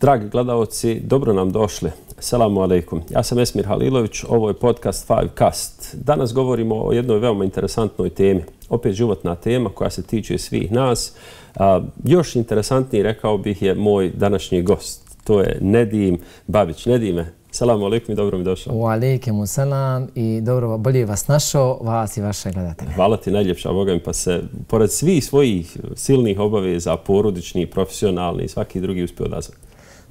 Dragi gledalci, dobro nam došli. Selamu alejkum. Ja sam Esmir Halilović, ovo je podcast Fivecast. Danas govorimo o jednoj veoma interesantnoj temi. Opet životna tema koja se tiče svih nas. Još interesantniji, rekao bih, je moj današnji gost. To je Nedim Babić. Nedime, selamu alejkum i dobro mi došao. Wa alejkum selam i dobro, bolje vas našao, vas i vaše gledatelje. Hvala ti najljepša, Boga mi, pa se pored svih svojih silnih obaveza, porodični, profesionalni i svaki drugi uspio odazvati.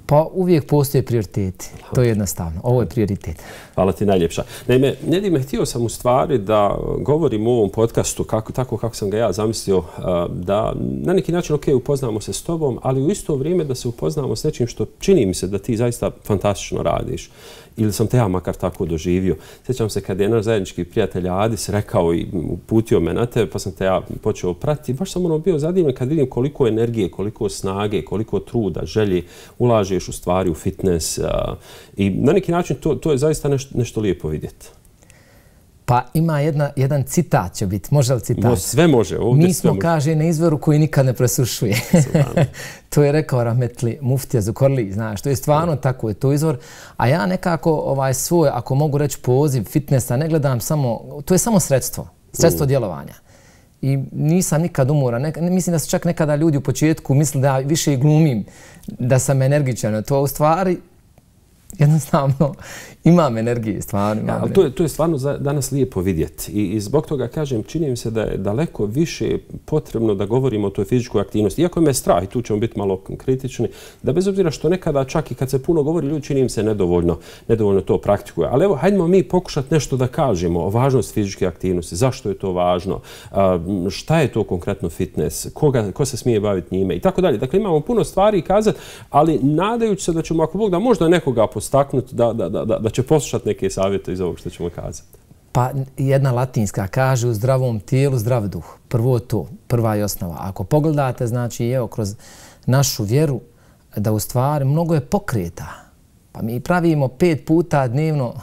Pa uvijek postoje prioriteti. To je jednostavno. Ovo je prioritet. Hvala ti najljepša. Naime, Nedime, htio sam u stvari da govorim u ovom podcastu tako kako sam ga ja zamislio, da na neki način upoznamo se s tobom, ali u isto vrijeme da se upoznamo s nečim što čini mi se da ti zaista fantastično radiš. Ili sam te ja makar tako doživio. Sjećam se kad je naš zajednički prijatelj Adis rekao i uputio me na tebe, pa sam te ja počeo pratiti. Baš sam bio zadivljen kad vidim koliko energije, koliko snage, koliko truda, želje ulažeš u stvari, u fitness. I na neki način to je zaista nešto lijepo vidjeti. Pa ima jedan citat će biti. Može li citat? Sve može. Mi smo, kaže, na izvoru koji nikad ne presušuje. To je rekao rahmetli muftija Zukorli, znaš. To je stvarno tako, je to izvor. A ja nekako svoj, ako mogu reći poziv fitnessa, ne gledam samo, to je samo sredstvo djelovanja. I nisam nikad umoran. Mislim da su čak nekada ljudi u početku mislili da više i glumim, da sam energičan. To u stvari jednostavno imam energije, stvarno imam energije. Ali to je stvarno danas lijepo vidjeti. I zbog toga kažem, čini mi se da je daleko više potrebno da govorimo o toj fizičkoj aktivnosti. Iako me strah, i tu ćemo biti malo kritični, da bez obzira što nekada čak i kad se puno govori, ljudi čini mi se nedovoljno to praktikuje. Ali evo, hajdemo mi pokušati nešto da kažemo o važnosti fizičke aktivnosti. Zašto je to važno? Šta je to konkretno fitness? Ko se smije baviti njime? I tako dalje. Dakle, imamo puno stvari kazati, ali nadajući se da ćemo, ako Bog da, možda nekoga postaknuti da će poslušati neke savjete iz ovog što ćemo kazati. Pa jedna latinska kaže u zdravom tijelu zdrav duh. Prvo to, prva je osnova. Ako pogledate, znači evo kroz našu vjeru, da u stvari mnogo je pokreta. Pa mi pravimo 5 puta dnevno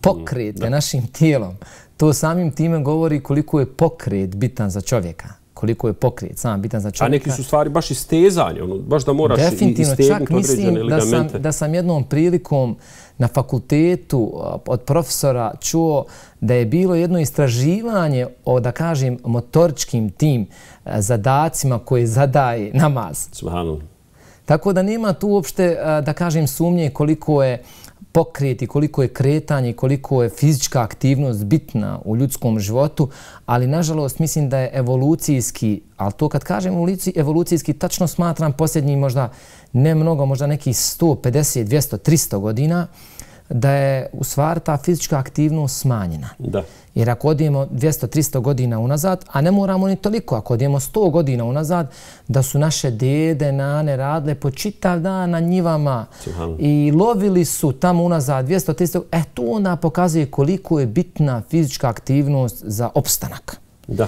pokrete našim tijelom. To samim time govori koliko je pokret bitan za čovjeka. Koliko je pokret sam bitan za čovjeka. A neki su stvari baš istezanje, baš da moraš istegnuti određene ligamente. Da sam jednom prilikom na fakultetu od profesora čuo da je bilo jedno istraživanje o, da kažem, motoričkim tim zadacima koje zadaje namaz. Subhanallah. Tako da nema tu uopšte, da kažem, sumnje koliko je pokret i koliko je kretanje, koliko je fizička aktivnost bitna u ljudskom životu, ali nažalost mislim da je evolucijski, ali to kad kažem evolucijski, tačno smatram posljednjih možda ne mnogo, možda nekih 150, 200, 300 godina, da je u stvari ta fizička aktivnost smanjena. Da. Jer ako odijemo 200-300 godina unazad, a ne moramo ni toliko, ako odijemo 100 godina unazad, da su naše dede, nane radile po čitav dan na njivama i lovili su tamo unazad 200-300, to onda pokazuje koliko je bitna fizička aktivnost za opstanak. Da.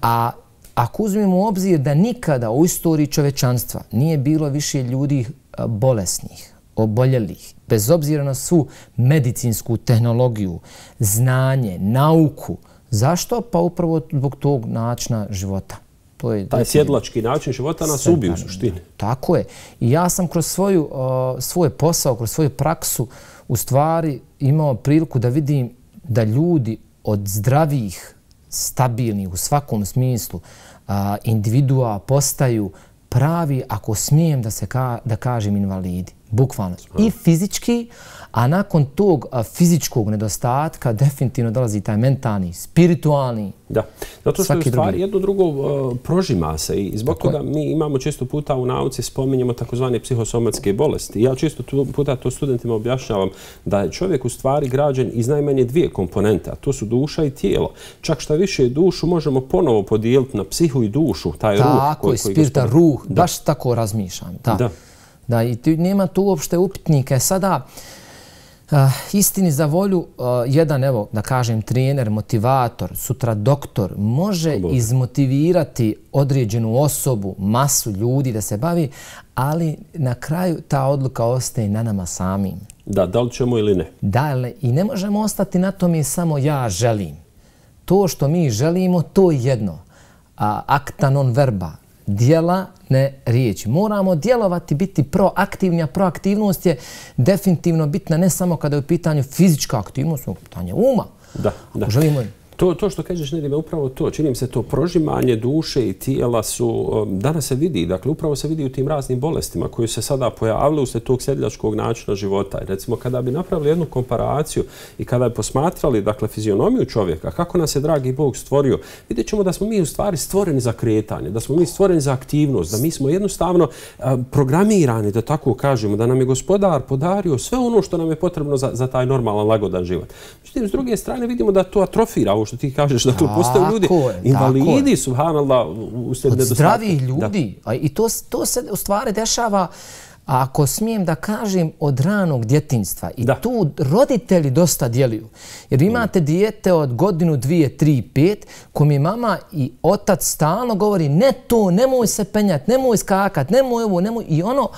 A ako uzmemo u obzir da nikada u istoriji čovečanstva nije bilo više ljudi bolesnih, oboljelih, bez obzira na svu medicinsku tehnologiju, znanje, nauku. Zašto? Pa upravo zbog tog načina života. Taj sjedlački način života nas ubije u suštini. Tako je. I ja sam kroz svoj posao, kroz svoju praksu u stvari imao priliku da vidim da ljudi od zdravih, stabilnih u svakom smislu individua postaju pravi, ako smijem da kažem, invalidi. Bukvalno. I fizički, a nakon tog fizičkog nedostatka definitivno dolazi taj mentalni, spiritualni. Da, zato što u stvari jedno drugo prožima se i zbog toga mi imamo često puta u nauci spominjemo takozvane psihosomatske bolesti. Ja često puta to studentima objašnjavam da je čovjek u stvari građen iz najmanje 2 komponente, a to su duša i tijelo. Čak šta više dušu možemo ponovo podijeliti na psihu i dušu, taj ruh. Tako je, spirita, ruh, baš tako razmišljam. Da, i nema tu uopšte upitnika. Sada, istini za volju, jedan, evo, da kažem, trener, motivator, sutra doktor, može izmotivirati određenu osobu, masu ljudi da se bavi, ali na kraju ta odluka ostaje na nama samim. Da li ćemo ili ne? Da, i ne možemo ostati na tome samo ja želim. To što mi želimo, to je jedno. Acta non verba. Djela, ne riječi. Moramo djelovati, biti proaktivni, a proaktivnost je definitivno bitna ne samo kada je u pitanju fizička aktivnost, u pitanju uma. Da. Želimo To što kažeš, Nedime, upravo to. Čini mi se to prožimanje duše i tijela su, danas se vidi, dakle upravo se vidi u tim raznim bolestima koji se sada pojavili uslijed tog sedljačkog načina života. I recimo kada bi napravili jednu komparaciju i kada bi posmatrali, dakle, fizionomiju čovjeka, kako nas je dragi Bog stvorio, vidjet ćemo da smo mi u stvari stvoreni za kretanje, da smo mi stvoreni za aktivnost, da mi smo jednostavno programirani, da tako kažemo, da nam je Gospodar podario sve ono što nam je potrebno za taj normalan, lagodan život. Međutim, s druge strane vidimo da to atrofira, što ti kažeš, da tu postaju ljudi invalidi, subhanallah, uslijed nedostatka. Zdravih ljudi. I to se u stvari dešava, ako smijem da kažem, od ranog djetinjstva. I tu roditelji dosta djeluju. Jer imate dijete od godinu, 2, 3, 5, kome mama i otac stalno govori ne to, nemoj se penjati, nemoj skakat, nemoj ovo, nemoj... I ono,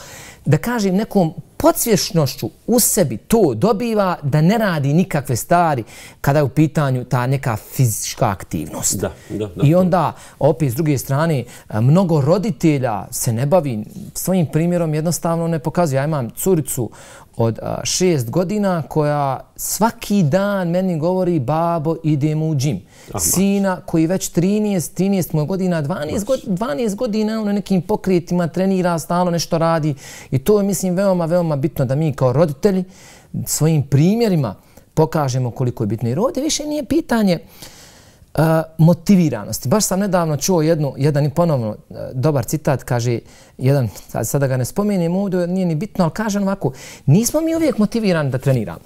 da kažem, nekom podsvješnošću u sebi to dobiva da ne radi nikakve stvari kada je u pitanju ta neka fizička aktivnost. I onda, opet s druge strane, mnogo roditelja se ne bavi svojim primjerom, jednostavno ne pokazuje. Ja imam curicu od 6 godina koja svaki dan meni govori babo idemo u džim. Sina koji već 13 godina, 12 godina na nekim pokretima trenira, stalno nešto radi i to je mislim veoma bitno da mi kao roditelji svojim primjerima pokažemo koliko je bitno. Jer ovdje više nije pitanje motiviranosti. Baš sam nedavno čuo jedan i ponovno dobar citat, kaže jedan, sada ga ne spomenem ovdje, nije ni bitno, ali kažem ovako, nismo mi uvijek motivirani da treniramo.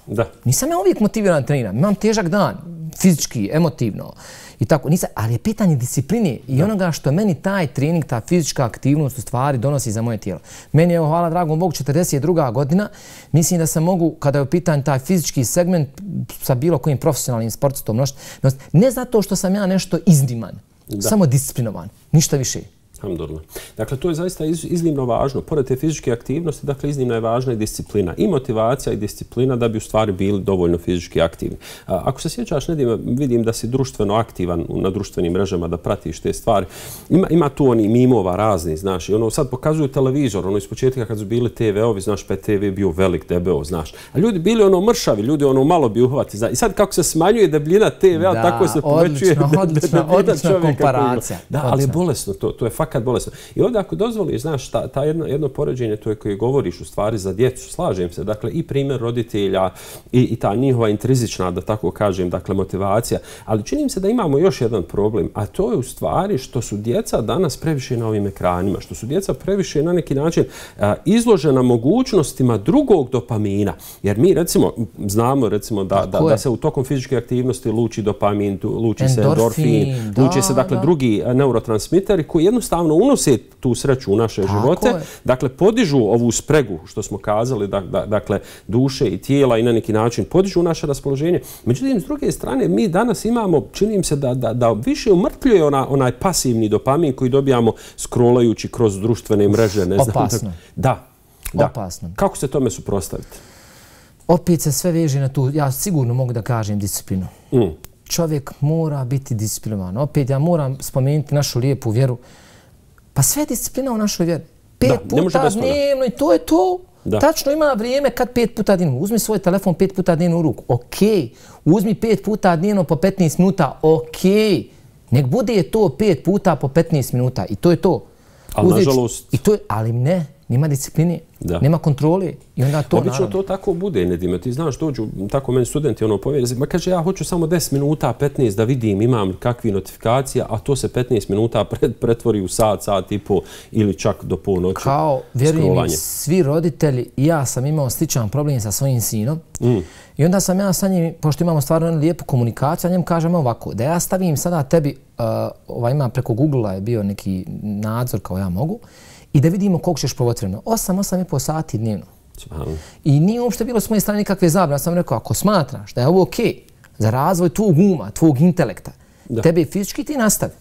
Nisam ja uvijek motiviran da treniram. Imam težak dan, fizički, emotivno i tako. Ali je pitanje discipline i onoga što meni taj trening, ta fizička aktivnost u stvari donosi za moje tijelo. Meni je, hvala dragom Bogu, 42. godina. Mislim da se mogu, kada je u pitanju taj fizički segment sa bilo kojim profesionalnim sportistom, ne zato što sam ja nešto izniman, samo disciplinovan, ništa više. Alhamdulillah. Dakle, to je zaista iznimno važno. Pored te fizičke aktivnosti, dakle, iznimno je važna i disciplina. I motivacija i disciplina da bi u stvari bili dovoljno fizički aktivni. Ako se sjećaš, Nedime, vidim da si društveno aktivan na društvenim mrežama, da pratiš te stvari. Ima tu oni mimova razni, znaš. I ono sad pokazuju televizor, iz početka kad su bili TV-ovi, znaš, pa je TV bio velik, debeo, znaš. A ljudi bili mršavi, ljudi malo bi uhvati. I sad kako se smanjuje debljina TV-a, tako se povećuje odlična komparacija. Da, ali je bolesno to je fakat bolesno. I ovdje ako dozvoliš, znaš, ta jedno poređenje to je koje govoriš u stvari za djecu, slažem se, dakle i primjer roditelja i ta njihova intrinzična, da tako kažem, dakle motivacija, ali čini mi se da imamo još jedan problem, a to je u stvari što su djeca danas previše na ovim ekranima, što su djeca previše na neki način izložena mogućnostima drugog dopamina, jer mi recimo znamo recimo da se u tokom fizičke aktivnosti luči dopamin, luči se endorfin, luči se dakle drugi neurotransmiteri koji jednostavno unose tu sreću u naše živote, dakle podižu ovu spregu što smo kazali, dakle duše i tijela i na neki način podižu naše raspoloženje. Međutim, s druge strane, mi danas imamo, čini mi se da više umrtljuje onaj pasivni dopamin koji dobijamo scrollajući kroz društvene mreže. Opasno. Da. Opasno. Kako se tome suprotstaviti? Opet se sve veže na tu, ja sigurno mogu da kažem, disciplinu. Čovjek mora biti disciplinovan. Opet ja moram spomenuti našu lijepu vjeru. Pa sve je disciplina u našoj vjeri. 5 puta dnevno i to je to. Tačno ima vrijeme kad 5 puta dnevno. Uzmi svoj telefon 5 puta dnevno u ruku. Okej. Uzmi 5 puta dnevno po 15 minuta. Okej. Nek bude to 5 puta po 15 minuta. I to je to. Ali nažalost... Ali ne. Nema discipline, nema kontrole i onda to obično to tako bude, Nedime. Ti znaš, dođu tako meni studenti povjeri, ma kaže ja hoću samo 10 minuta, 15 da vidim imam kakvi notifikacija, a to se 15 minuta pretvori u sat i po ili čak do ponoći. Kao, vjerujem, svi roditelji, ja sam imao sličan problem sa svojim sinom i onda sam ja sa njim, pošto imamo stvarno lijepu komunikaciju, a njemu kažem ovako, da ja stavim sada tebi, ima preko Google-a je bio neki nadzor kao ja mogu, i da vidimo koliko ćeš provoti vremena. 8,5 sati dnevno. I nije uopšte bilo s moje strane nikakve zabrane. Ja sam rekao, ako smatraš da je ovo okej za razvoj tvog uma, tvog intelekta, tebe fizički ti nastavi.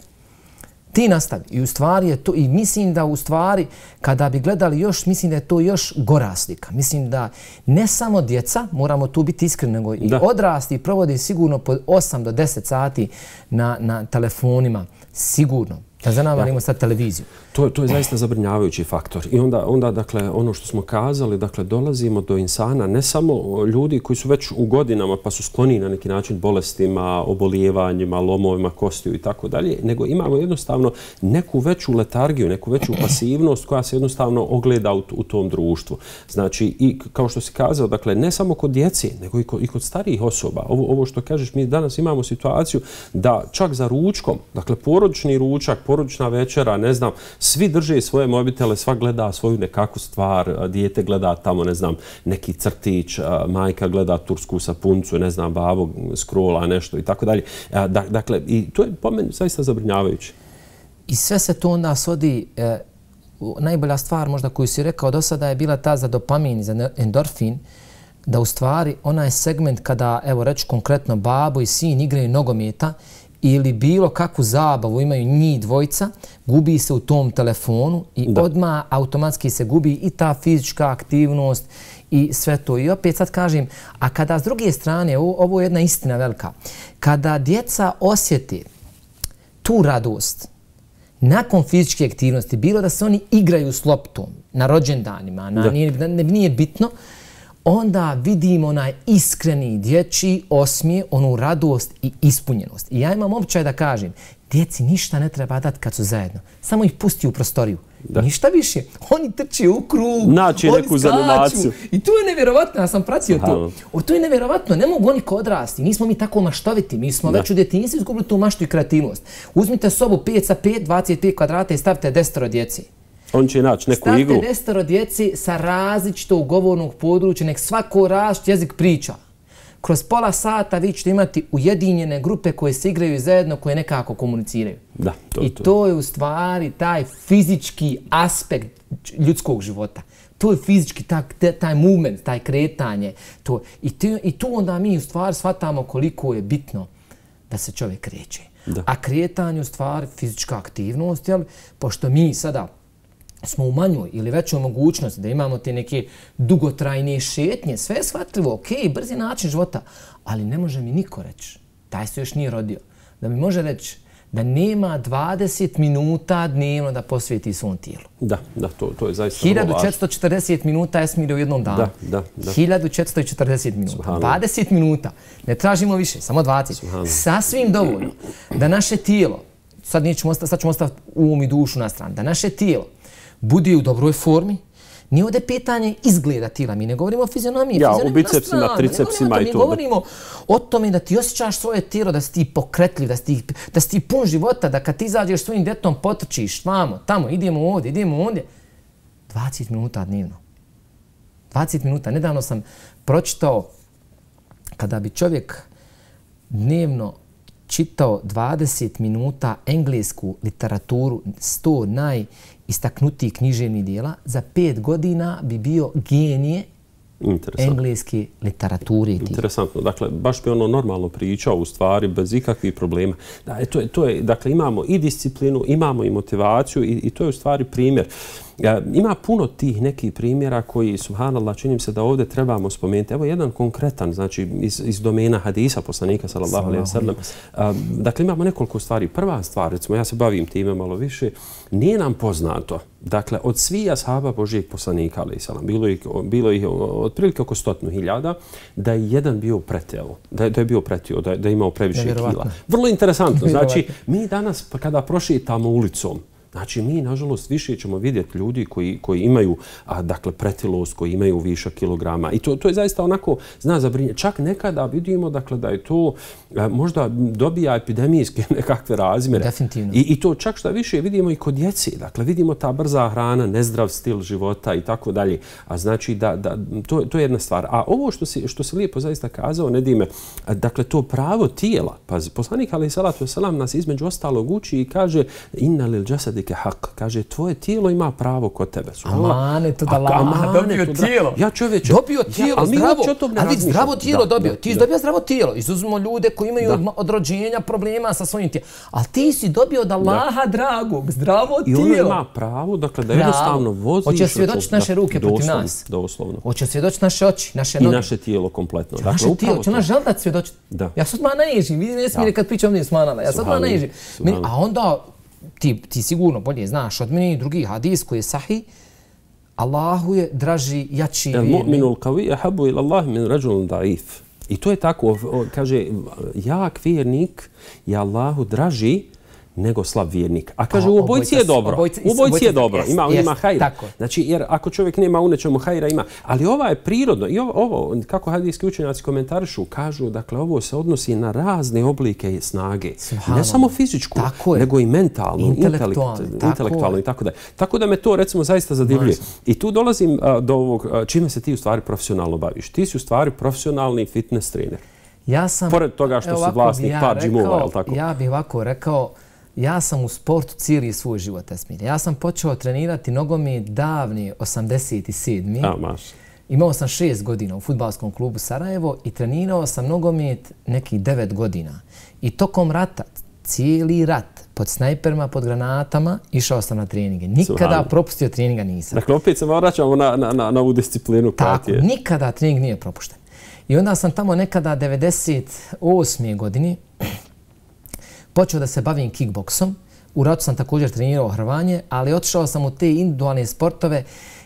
Ti nastavi. I u stvari je to, i mislim da u stvari, kada bi gledali još, mislim da je to još gora slika. Mislim da ne samo djeca, moramo tu biti iskreni, nego i odrasli provode sigurno po 8 do 10 sati na telefonima. Sigurno. Da zanavarimo sad televiziju. To je zaista zabrinjavajući faktor. I onda, dakle, ono što smo kazali, dakle, dolazimo do insana, ne samo ljudi koji su već u godinama pa su skloni na neki način bolestima, obolijevanjima, lomovima kostiju i tako dalje, nego imamo jednostavno neku veću letargiju, neku veću pasivnost koja se jednostavno ogleda u tom društvu. Znači, i kao što si kazao, dakle, ne samo kod djece, nego i kod starijih osoba. Ovo što kažeš, mi danas imamo situaciju da čak za ručkom, dakle, porodični ručak, porodična večera, ne znam, svi drže svoje mobitele, sva gleda svoju nekakvu stvar, dijete gleda tamo, ne znam, neki crtić, majka gleda tursku sapuncu, ne znam, babo scrolla nešto i tako dalje. Dakle, i to je po meni zaista zabrinjavajuće. I sve se to onda svodi, najbolja stvar možda koju si rekao do sada je bila ta za dopamin, za endorfin, da u stvari onaj segment kada, evo reći konkretno, babo i sin igraju nogometa ili bilo kakvu zabavu imaju njih dvojica, gubi se u tom telefonu i odmah automatski se gubi i ta fizička aktivnost i sve to. I opet sad kažem, a kada s druge strane, ovo je jedna istina velika, kada djeca osjeti tu radost nakon fizičke aktivnosti, bilo da se oni igraju s loptom na rođendanima, nije bitno, onda vidimo onaj iskreni dječji osmijeh, onu radost i ispunjenost. I ja imam običaj da kažem, djeci ništa ne treba dati kad su zajedno. Samo ih pusti u prostoriju. Ništa više. Oni trče u krug, naći neku zanimaciju. I to je nevjerovatno, ja sam pratio to. To je nevjerovatno, ne mogu oni ko odrasti. Nismo mi tako maštoviti, mi smo već u djetinjstvu izgubili tu maštu i kreativnost. Uzmite sobu 5 sa 5, 25 kvadrata i stavite 10 djeci. On će naći neku igru. Stavite 10 djeci sa različitog govornog područja, nek svako različit jezik priča. Kroz pola sata vi ćete imati ujedinjene grupe koje se igraju zajedno, koje nekako komuniciraju. I to je u stvari taj fizički aspekt ljudskog života. To je fizički, taj movement, taj kretanje. I tu onda mi u stvari shvatamo koliko je bitno da se čovjek kreće. A kretanje u stvari fizička aktivnost, pošto mi sada smo u manjoj ili većoj mogućnosti da imamo te neke dugotrajne šetnje, sve je shvatljivo, ok, brzi način života, ali ne može mi niko reći, taj se još nije rodio, da mi može reći da nema 20 minuta dnevno da posvijeti svom tijelu. To je zaista vrlo važno. 1440 minuta Esmire u jednom danu. 1440 minuta. 20 minuta. Ne tražimo više, samo 20. Sasvim dovoljno da naše tijelo, sad ćemo ostaviti um i dušu na stranu, da naše tijelo bude u dobroj formi. Nije ovdje pitanje izgleda tijela, mi ne govorimo o fizionomiji. O bicepsima, tricepsima i to. Mi govorimo o tome da ti osjećaš svoje tijelo, da si ti pokretljiv, da si ti pun života, da kad ti izađeš svojim djetom potrčiš, tamo, idemo ovdje. 20 minuta dnevno. 20 minuta. Nedavno sam pročitao kada bi čovjek dnevno čitao 20 minuta englesku literaturu, 100 najistaknutijih književnih dijela, za 5 godina bi bio genije engleske literature. Interesantno. Dakle, baš bi ono normalno pričao u stvari, bez ikakvih problema. Dakle, imamo i disciplinu, imamo i motivaciju i to je u stvari primjer. Ima puno tih nekih primjera koji, subhanallah, činim se da ovdje trebamo spomenuti. Evo jedan konkretan, znači iz domena hadisa poslanika, sallallahu alejhi ve sellem. Dakle, imamo nekoliko stvari. Prva stvar, recimo, ja se bavim time malo više, nije nam poznato, dakle, od svih ashaba Božijeg poslanika, alejhi selam, bilo ih otprilike oko 100.000, da je jedan bio pretjelo, da je bio pretio, da je imao previše kila. Vrlo interesantno. Znači, mi danas kada prošetamo ulicom, znači, mi, nažalost, više ćemo vidjeti ljudi koji imaju, dakle, pretilost, koji imaju višak kilograma. I to je zaista onako, zna zabrinjati. Čak nekada vidimo, dakle, da je to možda dobija epidemijske nekakve razmjere. Definitivno. I to čak što više vidimo i kod djece. Dakle, vidimo ta brza hrana, nezdrav stil života i tako dalje. A znači, to je jedna stvar. A ovo što si lijepo zaista kazao, Nedime, dakle, to pravo tijela. Pazi, poslanik, alejhi salatu vesselam, nas između ostalog uči i kaže inna lil jasadi kaže, tvoje tijelo ima pravo kod tebe. Amanet od Allaha, dobio tijelo. Ja čovječe. Dobio tijelo zdravo, ali zdravo tijelo dobio. Ti si dobio zdravo tijelo. Izuzmimo ljude koji imaju od rođenja problema sa svojim tijelom. Ali ti si dobio od Allaha dragog, zdravo tijelo. I ono ima pravo, dakle, da jednostavno voziš. Hoće svjedočiti naše ruke protiv nas. Doslovno. Hoće svjedočiti naše oči, naše noge. I naše tijelo kompletno. Naše tijelo, će naš želdat svjedočiti. Ja sad odmah naježim. Vidi Esmire kad pričam ovdje smanala. Ja sad odmah naježim. A onda ti sigurno bolje znaš od mene, drugi hadis koji je sahih, Allahu je draži, jači vjernik. Mu'minul qawi ahabbu ila Allah min rajulin da'if. I to je tako, kaže, jak vjernik je Allahu draži nego slab vjernik. A kaže, u obojci je dobro. U obojci je dobro. Ima hajra. Znači, jer ako čovjek nema u nečemu hajra, ima. Ali ovo je prirodno. I ovo, kako hadijski učenjaci komentarišu, kažu, dakle, ovo se odnosi na razne oblike snage. Ne samo fizičku, nego i mentalnu, intelektualnu i tako da. Tako da me to, recimo, zaista zadivljuje. I tu dolazim do ovog, čime se ti u stvari profesionalno baviš. Ti si u stvari profesionalni fitness trener. Pored toga što si vlasnik par džimova, je li tako? Ja bih ovako rekao, ja sam u sportu cijeli svoj život, Esmir. Ja sam počeo trenirati nogomet davni 87. Imao sam 6 godina u fudbalskom klubu Sarajevo i trenirao sam nogomet nekih 9 godina. I tokom rata, cijeli rat, pod snajperima, pod granatama, išao sam na treninge. Nikada propustio treninga nisam. Dakle, opet se vraćamo na ovu disciplinu. Tako, nikada trening nije propušten. I onda sam tamo nekada 98. godine počeo da se bavim kickboksom. U ratu sam također trenirao hrvanje, ali otišao sam u te individualne sportove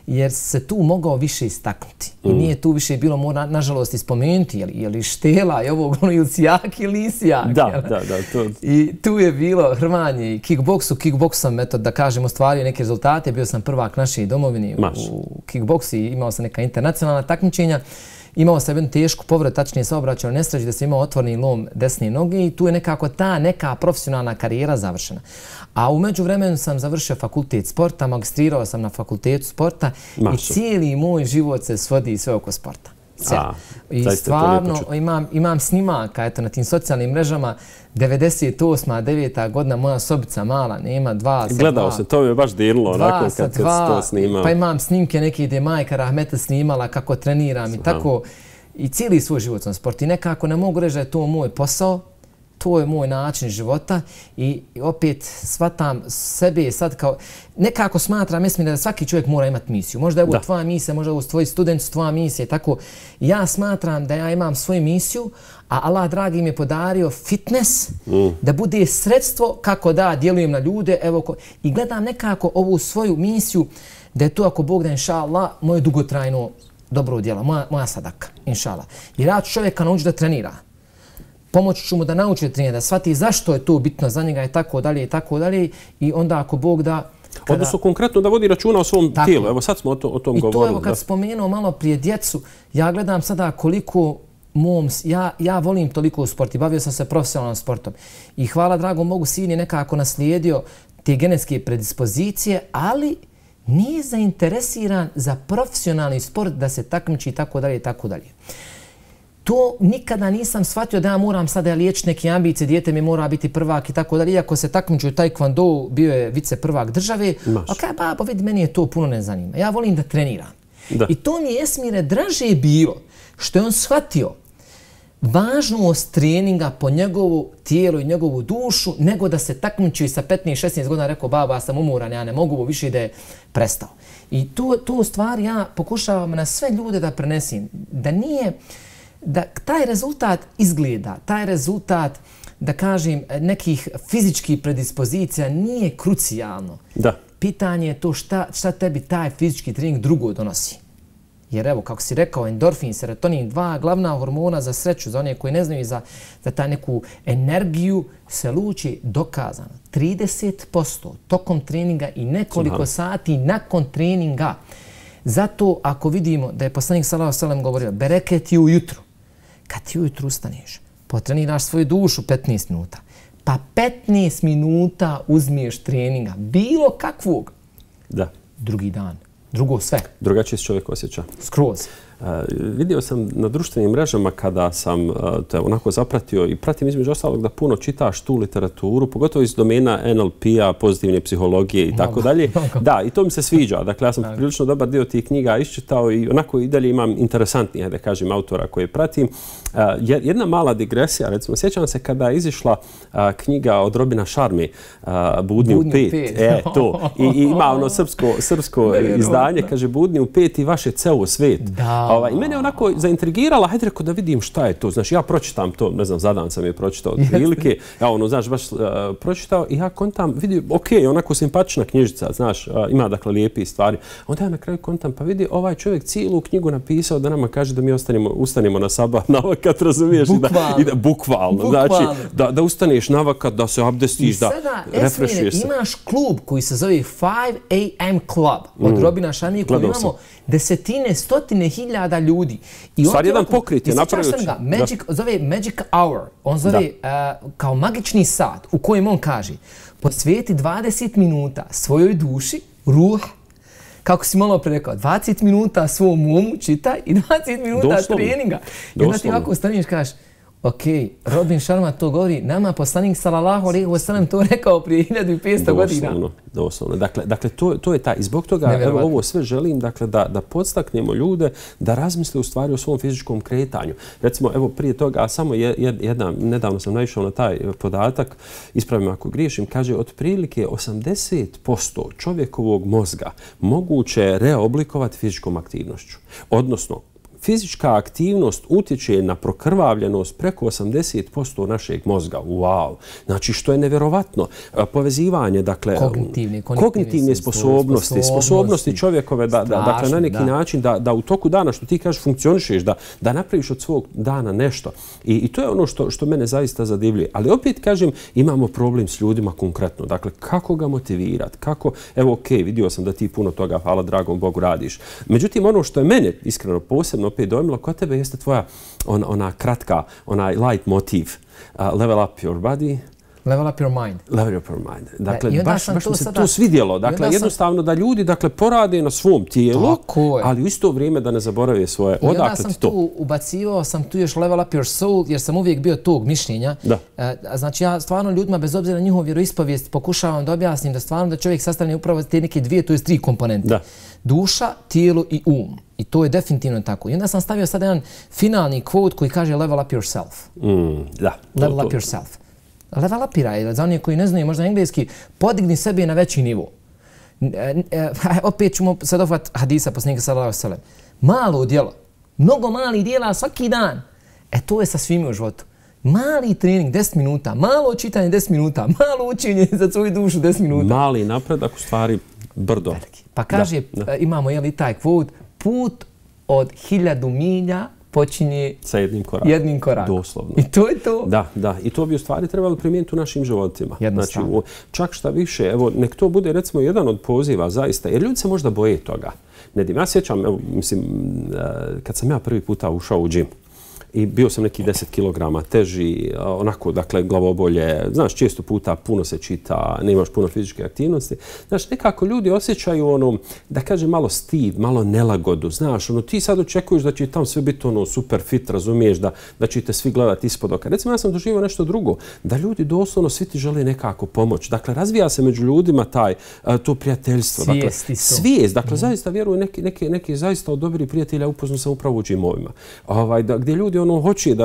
jer se tu mogao više istaknuti. I nije tu više bilo, mora nažalost ispomenuti, je li štela, je ovo ili si jak ili nisi jak. Da. I tu je bilo hrvanje i kickboksu. Kickboks sam, eto, da kažem, ostvario neke rezultate. Bio sam prvak naše domovine u kickboksu i imao sam neka internacionalna takmičenja. Imao sam jednu tešku povredu, tačnije saobraćajnu nesreću, da sam imao otvoreni lom desne noge i tu je nekako ta neka profesionalna karijera završena. A u međuvremenu sam završio fakultet sporta, magistrirao sam na fakultetu sporta i cijeli moj život se svodi sve oko sporta. I stvarno imam snimaka na tim socijalnim mrežama. 98. 9. godina, moja sobica mala, nema 2 Gledao se, to mi je baš dirilo onako kad se to snimao. Pa imam snimke neke gdje majka Rahmeta snimala kako treniram i tako. I cijeli svoj život sam sport. I nekako ne mogu reći da je to moj posao, to je moj način života i opet shvatam sebe sad kao, nekako smatram, mislim da svaki čovjek mora imati misiju. Možda je ovo tvoja misija, možda je ovo tvoji studenti, tvoja misija i tako. Ja smatram da ja imam svoju misiju, a Allah dragi mi je podario fitness da bude sredstvo kako da djelujem na ljude. I gledam nekako ovu svoju misiju da je to, ako Bog da, inša Allah, moje dugotrajno dobro djelo, moja sadaka, inša Allah. Jer ja ću čovjeka naučiti da trenira. Pomoći ću mu da nauči da trenira, da shvati zašto je to bitno za njega i tako dalje i tako dalje. I onda, ako Bog da... Odnosno, konkretno da vodi računa o svom tijelu. Evo sad smo o tom govorili. I to, evo, kad spomenuo malo prije djecu, ja gledam sada koliko ja volim toliko sport i bavio sam se profesionalnom sportom. I hvala dragom Bogu, sin je nekako naslijedio te genetske predispozicije, ali nije zainteresiran za profesionalni sport da se takmiči i tako dalje i tako dalje. To nikada nisam shvatio da ja moram sada liječiti neke ambicije, dijete mi mora biti prvak i tako dalje. Iako se takmičio u taekwondo, bio je vice prvak države. A kaj babo, vidi, meni je to puno ne zanima. Ja volim da treniram. I to mi je, Esmire, draže bilo što je on shvatio važnost treninga po njegovu tijelo i njegovu dušu, nego da se takmičio i sa 15-16 godina rekao, baba, ja sam umoran, ja ne mogu više da je prestao. I tu stvari ja pokušavam na sve ljude da prenesim. Da nije, da taj rezultat izgleda, taj rezultat, da kažem, nekih fizičkih predispozicija nije krucijalno. Pitanje je to šta tebi taj fizički trening drugo donosi. Jer evo, kako si rekao, endorfin, serotonin, 2 glavna hormona za sreću, za one koji ne znaju za ta neku energiju, se luči dokazano 30% tokom treninga i nekoliko sati nakon treninga. Zato ako vidimo da je poslanik sallallahu alejhi ve sellem govorio, bereket je ujutru. Kad ti ujutru ustaneš, potreniraš svoju dušu 15 minuta, pa 15 minuta uzmiješ treninga, bilo kakvog, drugi dan. Drugo sve. Drugačije se čovjek osjeća. Skroz. Vidio sam na društvenim mrežama kada sam te onako zapratio i pratim između ostalog da puno čitaš tu literaturu, pogotovo iz domena NLP-a, pozitivne psihologije i tako dalje. Da, i to mi se sviđa. Dakle, ja sam prilično dobar dio tih knjiga iščitao i onako i dalje imam interesantnije, da kažem, autora koje pratim. Jedna mala digresija, recimo, sjećam se kada je izišla knjiga od Robina Sharme, Budni u 5. I ima ono srpsko izdanje, kaže Budni u 5 i vaš je ceo svet. I mene onako zaintrigirala, hajde reko da vidim šta je to. Znaš, ja pročitam to, ne znam, zadan sam je pročitao od prilike, ja ono, znaš, baš pročitao i ja kontam, vidi, okej, onako simpatična knjižica, znaš, ima dakle lijepi stvari. Onda ja na kraju kontam, pa vidi, ovaj čovjek cijelu knjigu napisao da nama kaže da mi ustanemo na sabah na vakat, razumiješ? Bukvalno. Znači, da ustaneš na vakat, da se abdestiš, da refrešuješ se. Imaš klub koji se zove 5 AM Club od Robina Šamije, koji imamo desetine, stotine hiljada ljudi. Stvar jedan pokrit je napravio. Zove Magic Hour. On zove kao magični sat u kojem on kaže posvijeti 20 minuta svojoj duši, ruh, kako si malo pre rekao, 20 minuta svom umu čitaj i 20 minuta treninga. I onda ti ovako staniš i kažeš, ok, Robin Sharma to govori, nama poslanik sallallahu alejhi ve sellem to rekao prije 1500 godina. Doslovno. Dakle, to je taj. I zbog toga ovo sve želim da podstaknemo ljude da razmisle u stvari o svom fizičkom kretanju. Recimo, evo prije toga, samo nedavno sam naišao na taj podatak, ispravim ako griješim, kaže otprilike 80% čovjekovog mozga moguće je reoblikovati fizičkom aktivnošću. Odnosno, fizička aktivnost utječe na prokrvavljenost preko 80% našeg mozga. Wow! Znači, što je nevjerovatno. Povezivanje, dakle, kognitivne sposobnosti čovjekove, dakle, na neki način da u toku dana, što ti kažeš, funkcionišeš, da napraviš od svog dana nešto. I to je ono što mene zaista zadivljuje. Ali opet, kažem, imamo problem s ljudima konkretno. Dakle, kako ga motivirati? Kako, evo, okej, vidio sam da ti puno toga, hvala dragom Bogu, radiš. Međutim, ono što je mene iskreno posebno opet dojmilo kod tebe jeste tvoja ona kratka, onaj light motiv, level up your body. Level up your mind. Level up your mind. Dakle, baš mi se to svidjelo. Dakle, jednostavno da ljudi porade na svom tijelu, ali u isto vrijeme da ne zaborave svoje. I onda sam tu ubacivao, sam tu još level up your soul, jer sam uvijek bio tog mišljenja. Znači, ja stvarno ljudima, bez obzira na njihovu vjeroispovijest, pokušavam da objasnim da stvarno da čovjek sastavlja upravo te neke dvije, to je 3 komponente. Duša, tijelo i um. I to je definitivno tako. I onda sam stavio sad jedan finalni quote koji kaže level up yourself. Level up yourself. Level upiraj, za onih koji ne znaju možda engleski, podigni sebe na veći nivo. Opet ćemo sad ofat hadisa poslanika sallallahu alejhi ve sellem. Malo djelo, mnogo malih djela svaki dan. To je sa svime u životu. Mali trening 10 minuta, malo čitanje 10 minuta, malo učenje za svoju dušu 10 minuta. Mali napredak u stvari brdo. Pa kaže, imamo i taj quote, put od 1000 milja počinje sa jednim korakom. Doslovno. I to je to. Da. I to bi u stvari trebalo primijeniti u našim životima. Znači, čak šta više, evo, nek to bude recimo jedan od poziva zaista, jer ljudi se možda boje toga. Nedim, ja sjećam, evo, mislim, kad sam ja prvi puta ušao u džim, i bio sam neki 10 kilograma teži, onako, dakle, glavobolje, znaš, često puta puno se čita, nemaš puno fizičke aktivnosti. Znaš, nekako ljudi osjećaju ono, da kažem, malo stid, malo nelagodu, znaš, ono, ti sad očekuješ da će tamo sve biti ono super fit, razumiješ, da ćete svi gledati ispod oka. Recimo, ja sam doživio nešto drugo, da ljudi doslovno svi ti žele nekako pomoć. Dakle, razvija se među ljudima to prijateljstvo. Svijest. Dakle, zaista vjeruju neki zaista od dobrih prijatelja upoznao sam upravo u džimovima. Gdje ljudi hoće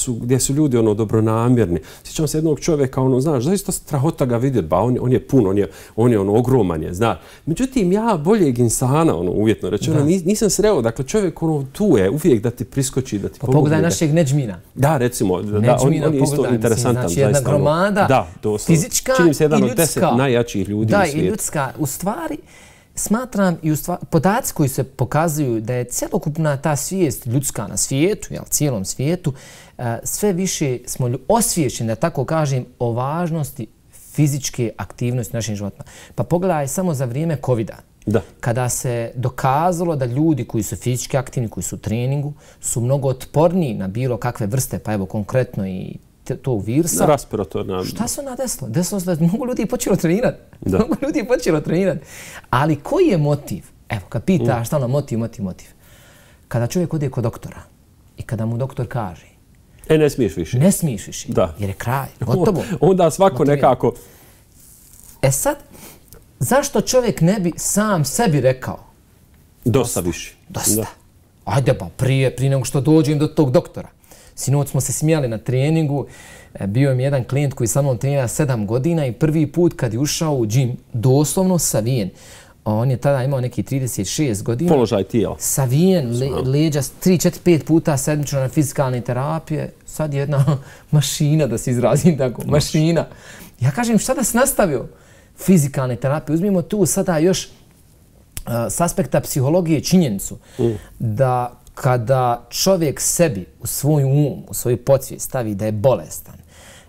gdje su ljudi dobronamjerni. Sjećam se jednog čovjeka, znaš, zaista strahota ga vidjeti, on je pun, on je ogroman je, znaš. Međutim, ja boljeg insana, uvjetno rečeno, nisam sreo. Dakle, čovjek tu je uvijek da ti priskoči, da ti pomogne. Pogledaj našeg Nedžmina. Da, recimo, on je isto interesantan. Znači, jedna gromada, fizička i ljudska. Čini se jedan od 10 najjačih ljudi u svijetu. Da, i ljudska. U stvari, smatram i podaci koji se pokazuju da je celokupna ta svijest ljudska na svijetu, cijelom svijetu, sve više smo osviješćeni, da tako kažem, o važnosti fizičke aktivnosti u našim životima. Pa pogledaj samo za vrijeme COVID-a. Kada se dokazalo da ljudi koji su fizički aktivni, koji su u treningu, su mnogo otporniji na bilo kakve vrste, pa evo konkretno i tog virusa. Respiratorna. Šta se onda desilo? Desilo se da mnogo ljudi je počelo trenirati. Ali koji je motiv? Evo, kad pitaš šta ono motiv. Kada čovjek ode kod doktora i kada mu doktor kaže ne smiješ više. Ne smiješ više. Jer je kraj. Gotovo. Onda svako nekako... Sad, zašto čovjek ne bi sam sebi rekao? Dosta više. Dosta. Ajde pa, prije nego što dođem do tog doktora. Sinoć smo se smijali na treningu, bio mi jedan klijent koji sa mnom trenira 7 godina i prvi put kad je ušao u džim, doslovno savijen, On je tada imao neki 36 godina. Položaj tijela. Savijen, leđa 3, 4, 5 puta sedmično na fizikalne terapije. Sad je jedna mašina, da se izrazim tako, mašina. Ja kažem, šta da se nastavio? Fizikalne terapije. Uzmimo tu sada još s aspekta psihologije činjenicu da kada čovjek sebi u svoj um, u svoju podsvijest stavi da je bolestan,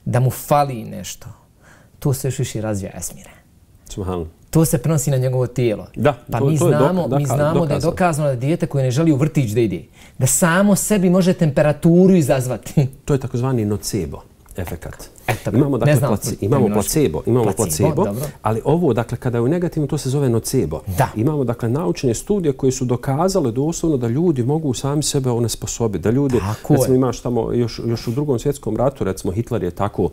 da mu fali nešto, to se još više razvija esmire. To se prenosi na njegovo tijelo. Da, pa mi znamo da je dokazano da dijete koje ne želi u vrtić da ide, da samo sebi može temperaturu izazvati. To je takozvani nocebo efekat. Imamo dakle placebo, ali ovo, dakle, kada je u negativnom, to se zove nocebo. Imamo, dakle, naučne studije koje su dokazale doslovno da ljudi mogu sami sebe onesposobiti. Da ljudi, recimo, imaš tamo još u Drugom svjetskom ratu, recimo, Hitler je tako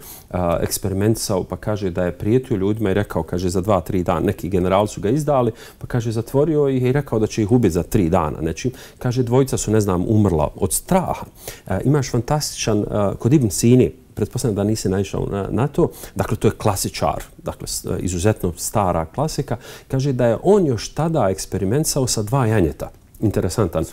eksperimentisao, pa kaže da je prijetio ljudima i rekao, kaže, za 2-3 dana, neki generali su ga izdali, pa kaže, zatvorio ih i rekao da će ih ubiti za 3 dana. Znači, kaže, dvojica su, ne znam, umrla od straha. Imaš fantastičan, kod Ibn Sini, pretpostavljam da nisi naišao na to. Dakle, to je klasičar, dakle, izuzetno stara klasika. Kaže da je on još tada eksperimentisao sa 2 janjeta. Interesantan.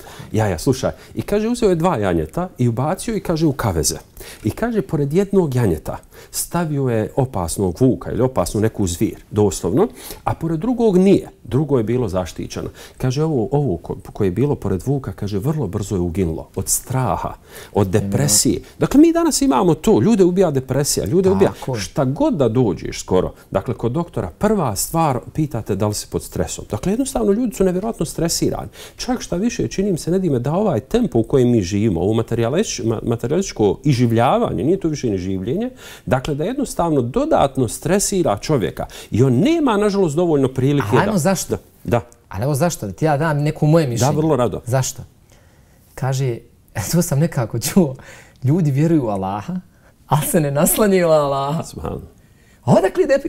Slušaj. I kaže, uzeo je 2 janjeta i ubacio i kaže u kaveze. I kaže, pored jednog janjeta stavio je opasnog vuka ili opasnu neku zvir, doslovno, a pored drugog nije. Drugo je bilo zaštićeno. Kaže, ovo koje je bilo pored vuka, kaže, vrlo brzo je uginulo. Od straha, od depresije. Dakle, mi danas imamo to. Ljude ubija depresija, ljude ubija šta god da dođeš skoro. Dakle, kod doktora prva stvar pitate da li si pod stresom. Dakle, jednostavno, ljudi su nevjerojatno stresirani. Čak šta više, činim se, Nedime, da ovaj tempo u kojem mi živimo, ovo materijalističko iživljavanje, nije to više ni življenje, dakle da jednostavno dodatno stresira čovjeka i on nema, nažalost, dovoljno prilike da... Ajmo, zašto? Da. Ali evo zašto, da ti ja dam neko moje mišljenje. Da, vrlo rado. Zašto? Kaže, to sam nekako čuo, ljudi vjeruju u Allaha, ali se ne naslanjaju na Allaha.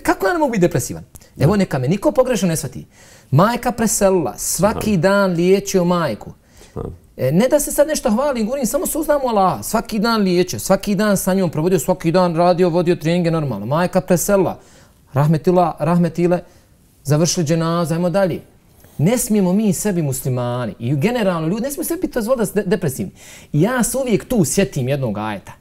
Kako ja ne mogu biti depresivan? Evo, neka me niko pogrešno ne shvati. Majka preselila, svaki dan liječio majku. Ne da se sad nešto hvalim, govorim, samo se uznam u Allaha. Svaki dan liječio, svaki dan sa njom provodio, svaki dan radio, vodio treninge normalno. Majka preselila, rahmetile, završili dženazu, ajmo dalje. Ne smijemo mi sebi muslimani i generalno ljudi, ne smijemo sebi dozvoliti da su depresivni. Ja se uvijek tu sjetim jednog ajeta.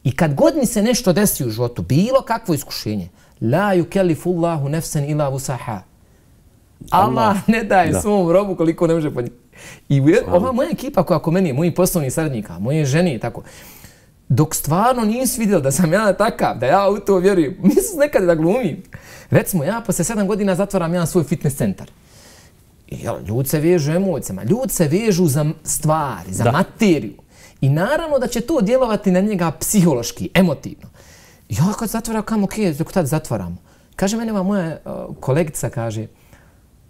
I kad god mi se nešto desi u životu, bilo kakvo iskušenje, la yukellifullahu nefsen ila vusaha. Allah ne daje svom robu koliko ne može podnijeti. I ova moja ekipa koja oko meni je, mojih poslovnih saradnika, moje žene i tako, dok stvarno nisu vidjeli da sam ja takav, da ja u to vjerujem, mislim nekad da glumim. Recimo, ja posle 7 godina zatvaram jedan svoj fitness centar. Ljudi se vežu emocijama, ljudi se vežu za stvari, za materiju. I naravno da će to djelovati na njega psihološki, emotivno. Ja kad zatvaram, kam dok tad zatvaramo. Kaže mene moja kolegica, kaže,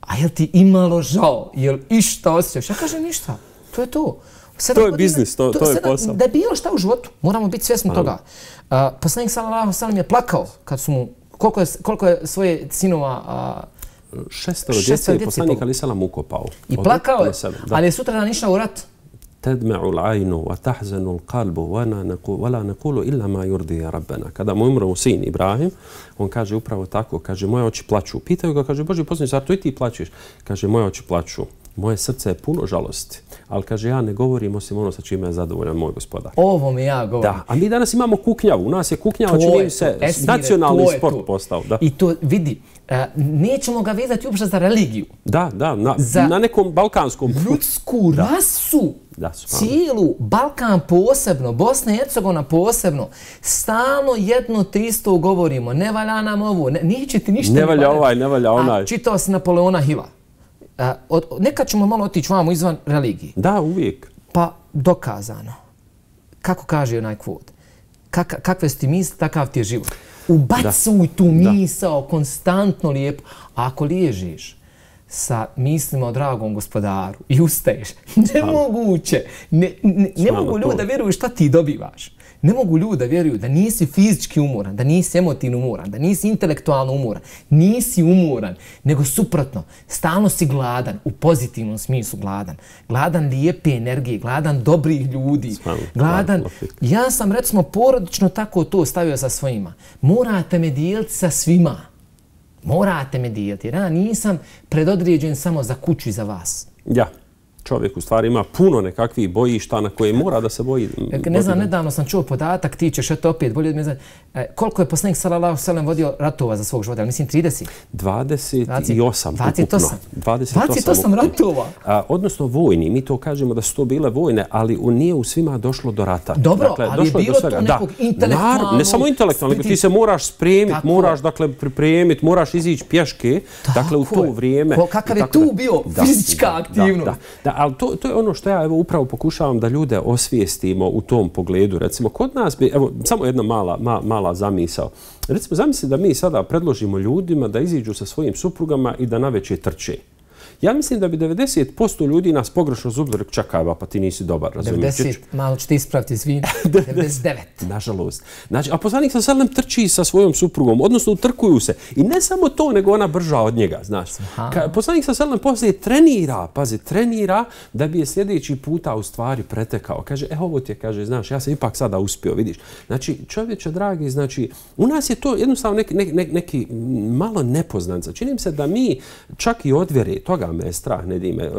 a jel ti imalo žao, jel išta osjećaš? Ja kažem ništa, to je to. To je biznis, to je posao. Da je bilo šta u životu, moramo biti svjesni toga. Poslanik sallallahu alejhi ve sellem je plakao kad su mu, koliko je svoje sinova... 6 djece je poslanik alejhi selam ukopao. I plakao je, ali je sutradan išao u rat. تدمع العين وتحزن القلب ولا نقول إلا ما يرضي ربنا. Kada mu umro sin Ibrahim, on kaže upravo tako, kaže moje oči plaču. Pitaju ga, kaže Božji poslanik, zar to i ti plačeš? Kaže moje oči plaču. Moje srce je puno žalosti, ali kaže ja ne govorim osim ono sa čime je zadovoljan moj gospodar. Ovo mi ja govorim. Da, a mi danas imamo kuknjavu. U nas je kuknjava, čini se nacionalni sport postao. I to vidi, nećemo ga vezati uopšte za religiju. Da, na nekom balkanskom. Ljudsku rasu. Cijelu, Balkan posebno, Bosna i Hercegovina posebno, stalno jedno te isto govorimo, ne valja nam ovo, neće ti ništa ne valja ovaj, ne valja onaj. A čitao si Napoleona Hilla. Nekad ćemo malo otići vamo izvan religije. Da, uvijek. Pa dokazano. Kako kaže onaj kvot? Kakve su ti misli, takav ti je život. Ubacuj tu misao konstantno lijepo. A ako liježiš sa mislima o dragom gospodaru i ustaješ, nemoguće. Ne mogu ljudi da vjeruju šta ti dobivaš. Ne mogu ljudi da vjeruju da nisi fizički umoran, da nisi emotivno umoran, da nisi intelektualno umoran. Nisi umoran, nego suprotno. Stalno si gladan, u pozitivnom smislu gladan. Gladan lijepe energije, gladan dobrih ljudi. Gladan. Ja sam recimo porodično tako to stavio sa svojima. Morate me dijeliti sa svima. Morate me dijeliti. Ja nisam predodređen samo za kuću i za vas. Ja. Čovjek u stvari ima puno nekakvih bojišta na koje mora da se boji. Ne znam, nedavno sam čuo podatak, ti ćeš eto opet bolje od mene. Koliko je poslanik sallallahu alejhi ve sellem vodio ratova za svog života? Mislim 30? 28 ukupno. 28 ratova? Odnosno vojni. Mi to kažemo da su to bile vojne, ali nije u svima došlo do rata. Dobro, dakle, ali je bilo to nekog intelektualnog... Ne samo intelektualnog, ti se moraš spremiti, moraš pripremiti, moraš izići pješke. Dakle, u to vrijeme... Kakav je tu bio fizička aktivnost? Ali to je ono što ja upravo pokušavam da ljude osvijestimo u tom pogledu. Recimo, kod nas bi, evo, samo jedna mala zamisao. Recimo, zamisli da mi sada predložimo ljudima da iziđu sa svojim suprugama i da navečer trče. Ja mislim da bi 90% ljudi nas pogrešno zubili, čekaj, pa ti nisi dobar, razumiješ? 90, malo ću ti ispraviti, izvini, 99. Nažalost. Znači, a poslanik sa selem trči sa svojom suprugom, odnosno utrkuju se. I ne samo to, nego ona brža od njega, znaš. Poslanik sa selem poslije trenira da bi je sljedeći puta u stvari pretekao. Kaže, ovo ti je, kaže, znaš, ja sam ipak sada uspio, vidiš. Znači, čovječe dragi, znači, u nas je to jednostavno neki malo nepoznanca. Čini mi se da mi čak i od vjere, toga me je strah, ne dime.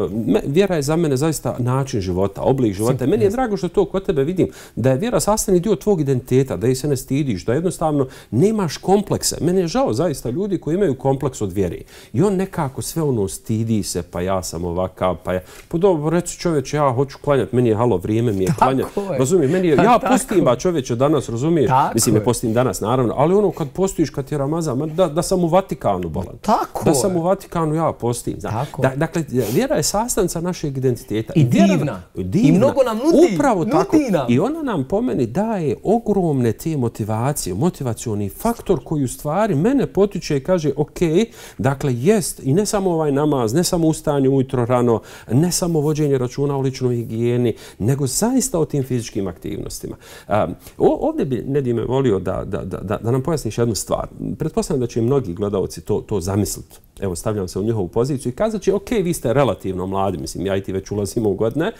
Vjera je za mene zaista način života, oblik života. Meni je drago što to kod tebe vidim, da je vjera sastavni dio tvog identiteta, da ih se ne stidiš, da jednostavno nemaš komplekse. Meni je žao zaista ljudi koji imaju kompleks od vjere. I on nekako sve ono stidi se, pa ja sam ovakav, pa ja... Pa dobro, reci čovječe, ja hoću klanjati, meni je halo, vrijeme mi je klanjati. Razumiješ, meni je, ja postim, ba čovječe danas, razumiješ? Mislim, ne postim danas, naravno, ali ono kad postojiš, kad je Ramazan, da sam u Vatikanu, bolan. Da sam u Vatikanu, ja postim. Dakle, vjera je sastavnica našeg identiteta. I divna. I mnogo nam nudi. Upravo tako. I ona nam po meni daje ogromne te motivacije, motivacioni faktor koji u stvari mene potiče i kaže, ok, dakle, jest, i ne samo ovaj namaz, ne samo ustaanje ujutro rano, ne samo vođenje računa o ličnoj higijeni, nego zaista o tim fizičkim aktivnostima. Ovdje bi Nedime volio da nam pojasniš jednu stvar. Pretpostavljam da će mnogi gledalci to zamisliti. Evo, stavljam se u njihovu poziciju i kazat će, ok, vi ste relativno mladi, mislim, ja i ti već ulazimo u godine,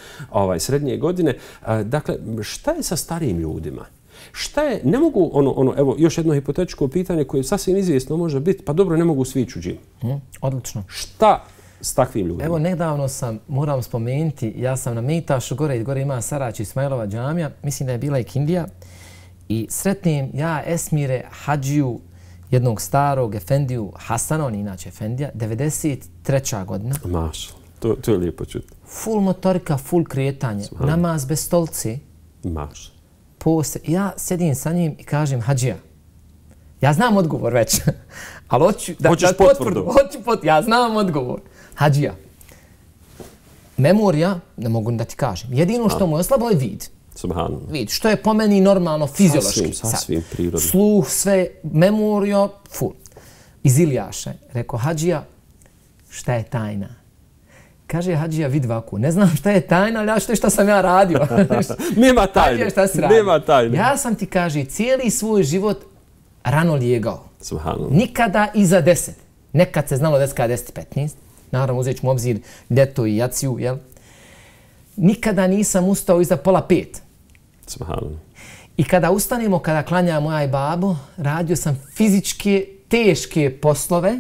srednje godine. Dakle, šta je sa starijim ljudima? Šta je, ne mogu, evo, još jedno hipotetičko pitanje koje sasvim izvjesno može biti, pa dobro, ne mogu svi ići u džim. Odlično. Šta s takvim ljudima? Evo, nedavno moram spomenuti, ja sam na Mejtašu, gore ima Sarač Ismailova džamija, mislim da je bila i Kindija, i sretnim ja Esmire Hadžiju, jednog starog efendiju Hasana, on je inače efendija, 93. godina. Mašal, to je lijepo čuti. Full motorika, full kretanje, namaz bez stolci. Mašal. Ja sedim sa njim i kažem, Hadžija, ja znam odgovor već, ali hoću da potvrdu. Ja znam odgovor. Hadžija, memorija, ne mogu da ti kažem, jedino što mu je slabo je vid. Vid, što je po meni normalno, fiziološki. Sasvim prirodno. Sluh, sve, memorija, full. Iz Iljaše. Rekao, Hadžija, šta je tajna? Kaže Hadžija, vid vaku, ne znam šta je tajna, ali šta sam ja radio. Nema tajne. Hadžija, šta si radio? Nema tajne. Ja sam ti, kaže, cijeli svoj život rano lijegao. Nikada iza 10. Nekad se znalo 10 kada 10-15. Naravno, uzet ćemo obzir ljeto i jaciju, jel? Nikada nisam ustao iza 4:30. I kada ustanemo, kada klanjamo ja i babo, radio sam fizičke, teške poslove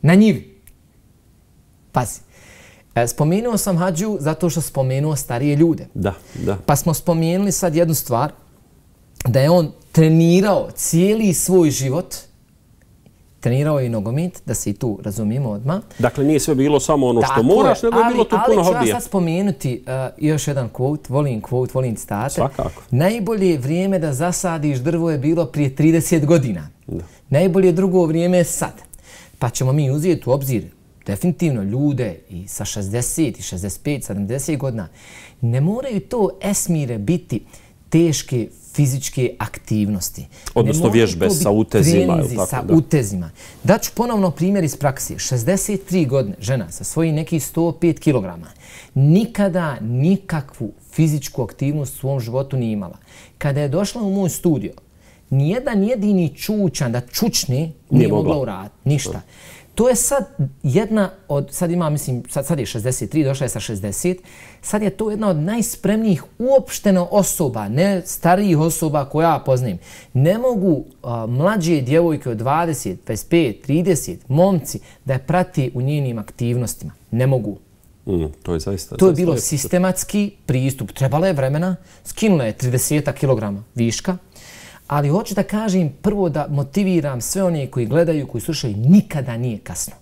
na njivi. Pazi. Spomenuo sam Hadžiju zato što spomenuo starije ljude. Da. Pa smo spomenuli sad jednu stvar, da je on trenirao cijeli svoj život, trenirao je i nogomet, da se i tu razumijemo odmah. Dakle, nije sve bilo samo ono što moraš, nego je bilo tu puno hobija. Ali ću ja sad spomenuti još jedan quote, volim citate. Svakako. Najbolje vrijeme da zasadiš drvo je bilo prije 30 godina. Najbolje drugo vrijeme je sad. Pa ćemo mi uzeti u obzir definitivno ljude i sa 60 i 65, 70 godina. Ne moraju to Esmire biti teške fizičke aktivnosti. Odnosno vježbe sa utezima. Sa utezima. Daću ponovno primjer iz praksije. 63 godine žena sa svojih nekih 105 kg nikada nikakvu fizičku aktivnost u svom životu nije imala. Kada je došla u moj studio, nijedan jedini čučan da čučne nije mogla uraditi. Ništa. To je sad jedna od, sad ima, mislim, sad je 63, došla je sa 60, sad je to jedna od najspremnijih uopšteno osoba, ne starijih osoba koja ja poznajem. Ne mogu mlađe djevojke od 20, 25, 30, momci da je prati u njenim aktivnostima. Ne mogu. To je zaista... To je bilo sistematski pristup. Trebalo je vremena, skinula je 30 kg viška, ali hoću da kažem prvo da motiviram sve one koji gledaju, koji slušaju, nikada nije kasno.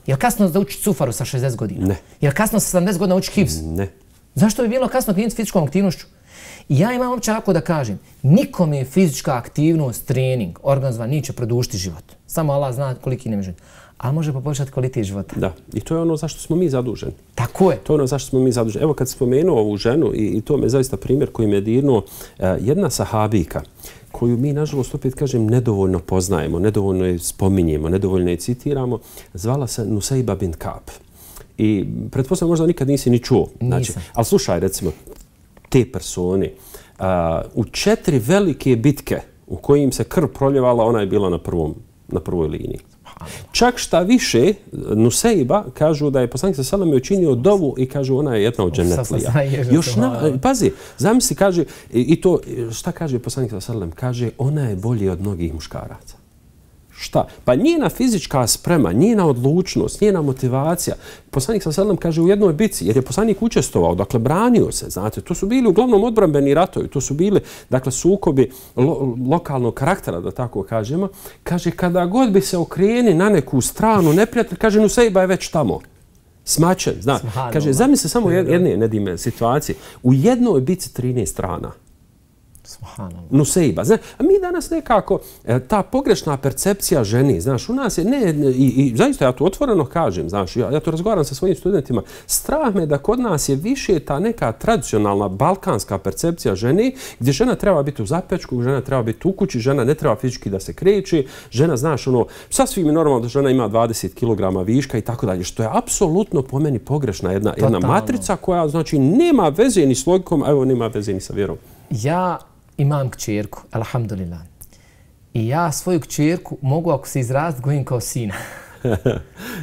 Je li kasno da uči cufaru sa 60 godina? Ne. Je li kasno sa 70 godina uči hifz? Ne. Zašto bi bilo kasno krenuti s fizičkom aktivnošću? I ja imam uopće ako da kažem, nikome fizička aktivnost, trening, organizovan, neće produžiti život. Samo Allah zna koliki ne može. A može poboljšati kvalitet života. Da, i to je ono zašto smo mi zaduženi. Tako je. To je ono zašto smo mi zaduženi. Evo kad spomenuo ovu ženu, i to me zaista primjer koji me dirnuo, jedna sahabijka koju mi, nažalost, opet kažem, nedovoljno poznajemo, nedovoljno je spominjemo, nedovoljno je citiramo, zvala se Nusejba bint Ka'b. I pretpostavljam možda nikad nisi ni čuo. Znači, ali slušaj, recimo, te persone, u 4 velike bitke u kojim se krv proljevala, ona je bila na prvoj liniji. Čak šta više, Nusejba kažu da je poslanik sallallahu alejhi ve sellem učinio dovu i kažu ona je jedna od džennetlija. Pazi, zamisli, kaže, i to, šta kaže poslanik sallallahu alejhi ve sellem? Kaže, ona je bolje od mnogih muškaraca. Šta? Pa njena fizička sprema, njena odlučnost, njena motivacija. Poslanik sallallahu alejhi ve sellem kaže u jednoj bitci, jer je poslanik učestvovao, dakle branio se, znate, to su bili uglavnom odbrambeni ratovi, to su bili, dakle, sukobi lokalnog karaktera, da tako kažemo. Kaže, kada god bi se okreni na neku stranu neprijatelj, kaže, Nusejba je već tamo. Smačen, zna. Kaže, zamisli samo jedne, Nedime, situacije. U jednoj bitci 13 strana. Nusejba. A mi danas nekako, ta pogrešna percepcija ženi, znaš, u nas je, i zaista ja to otvoreno kažem, znaš, ja to razgovaram sa svojim studentima, strah me da kod nas je više ta neka tradicionalna balkanska percepcija ženi, gdje žena treba biti u zapečku, žena treba biti u kući, žena ne treba fizički da se kreće, žena, znaš, ono, sasvim je normalno da žena ima 20 kg viška i tako dalje, što je apsolutno po meni pogrešna jedna matrica koja, znači, nema veze ni s logikom, a evo, nema veze ni sa vjerom. Ja imam kćerku, alhamdulillah. I ja svoju kćerku mogu, ako se izraziti, gojim kao sina.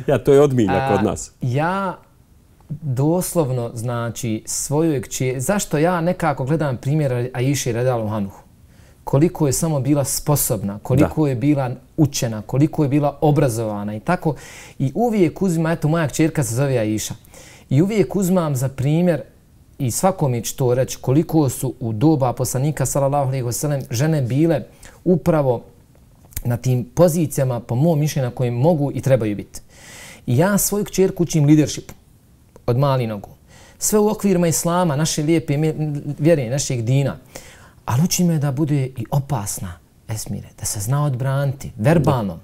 Ja, to je odmilja kod nas. Ja doslovno, znači, svoju kćerku... Zašto ja nekako gledam primjer Aiše radijallahu anhu? Koliko je samo bila sposobna, koliko je bila učena, koliko je bila obrazovana i tako. I uvijek uzimam, eto, moja kćerka se zove Aiša. I uvijek uzimam za primjer i svakome ću to reći koliko su u doba poslanika sallallahu alejhi ve sellem žene bile upravo na tim pozicijama, po mom mišljenju, na kojim mogu i trebaju biti. I ja svoju kćerku učim leadership od mali nogu. Sve u okvirima islama, naše lijepe vjere, našeg dina. Ali učim je da bude i opasna, Esmire, da se zna odbraniti, verbalno,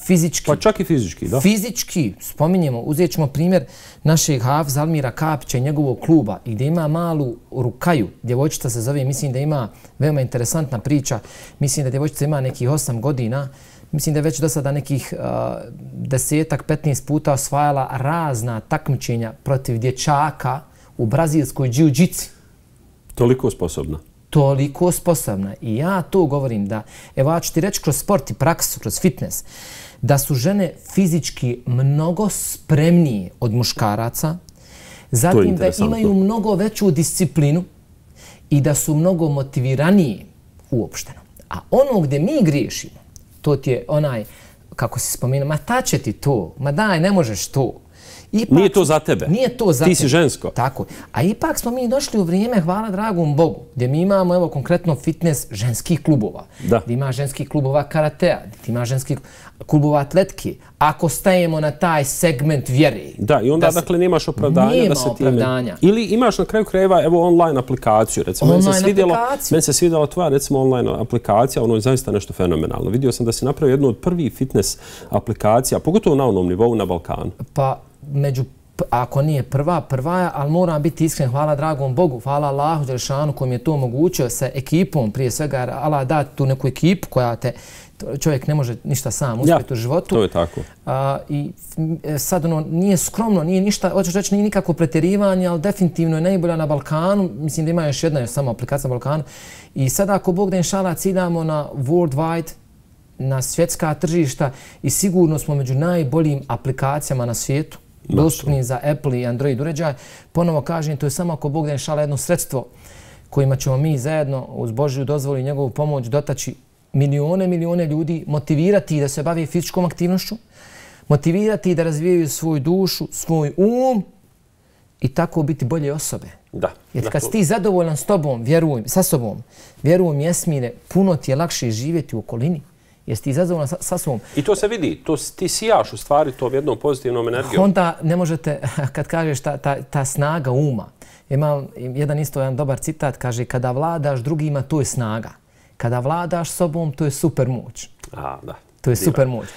fizički. Pa čak i fizički, da. Fizički, spominjemo, uzet ćemo primjer našeg Hafiza Almira Kapića i njegovog kluba, gdje ima malu Rukaju, djevojčica se zove, mislim da ima veoma interesantna priča, mislim da djevojčica ima nekih 8 godina, mislim da je već do sada nekih 10-15 puta osvajala razna takmičenja protiv dječaka u brazilskoj džiu-džici. Toliko sposobna. Toliko sposobna. I ja to govorim da, evo ja ću ti reći kroz sport i praksu, kroz fitness, da su žene fizički mnogo spremnije od muškaraca, zatim da imaju mnogo veću disciplinu i da su mnogo motiviranije uopšteno. A ono gdje mi griješimo, to ti je onaj, kako si spomenuo, ma ta će ti to, ma daj, ne možeš to. Ipak, nije to za tebe. Nije to za ti si žensko. Tako. A ipak smo mi došli u vrijeme, hvala dragom Bogu, gdje mi imamo, evo, konkretno fitness ženskih klubova. Da. Gdje ima ženskih klubova karatea, gdje ima ženskih klubova atletike. Ako stajemo na taj segment vjere. Da, i onda, dakle, nemaš opravdanja da se opravdanja. Ili imaš na kraju krajeva, evo, online aplikaciju. Recimo, meni se svidjela tvoja, recimo, online aplikacija, ono je zaista nešto fenomenalno. Vidio sam da si napravio jednu od prvih fitness aplikacija, pogotovo na onom nivou na Balkanu. Pa, ako nije prva je, ali moram biti iskren, hvala dragom Bogu, hvala Allahu Đelešanu koji mi je to omogućio sa ekipom, prije svega, jer Allah da tu neku ekipu koja te, čovjek ne može ništa sam uspjeti u životu. To je tako. I sad ono, nije skromno, nije ništa, hoćeš reći, nije nikako pretjerivanje, ali definitivno je najbolja na Balkanu, mislim da ima još samo aplikacija na Balkanu. I sad ako Bog da inšala ciljamo na worldwide, na svjetska tržišta i sigurno smo među najboljim aplikacijama na svijetu, dostupni za Apple i Android uređaj. Ponovo kažem, to je samo ako Bog da inšala jedno sredstvo kojima ćemo mi zajedno uz Božju dozvolu i njegovu pomoć dotaći milijone ljudi, motivirati da se bave fizičkom aktivnošću, motivirati da razvijaju svoju dušu, svoj i tako biti bolje osobe. Da. Jer kad si ti zadovoljan s tobom, sa sobom, vjerujem Jasmine, puno ti je lakše živjeti u okolini. Jesi ti zadovoljan sa sobom. I to se vidi, ti sijaš u stvari tom jednom pozitivnom energijom. Onda ne možete, kad kažeš ta snaga uma, ima jedan dobar citat, kaže kada vladaš drugima, to je snaga. Kada vladaš sobom, to je super moć. Da. To je super moć.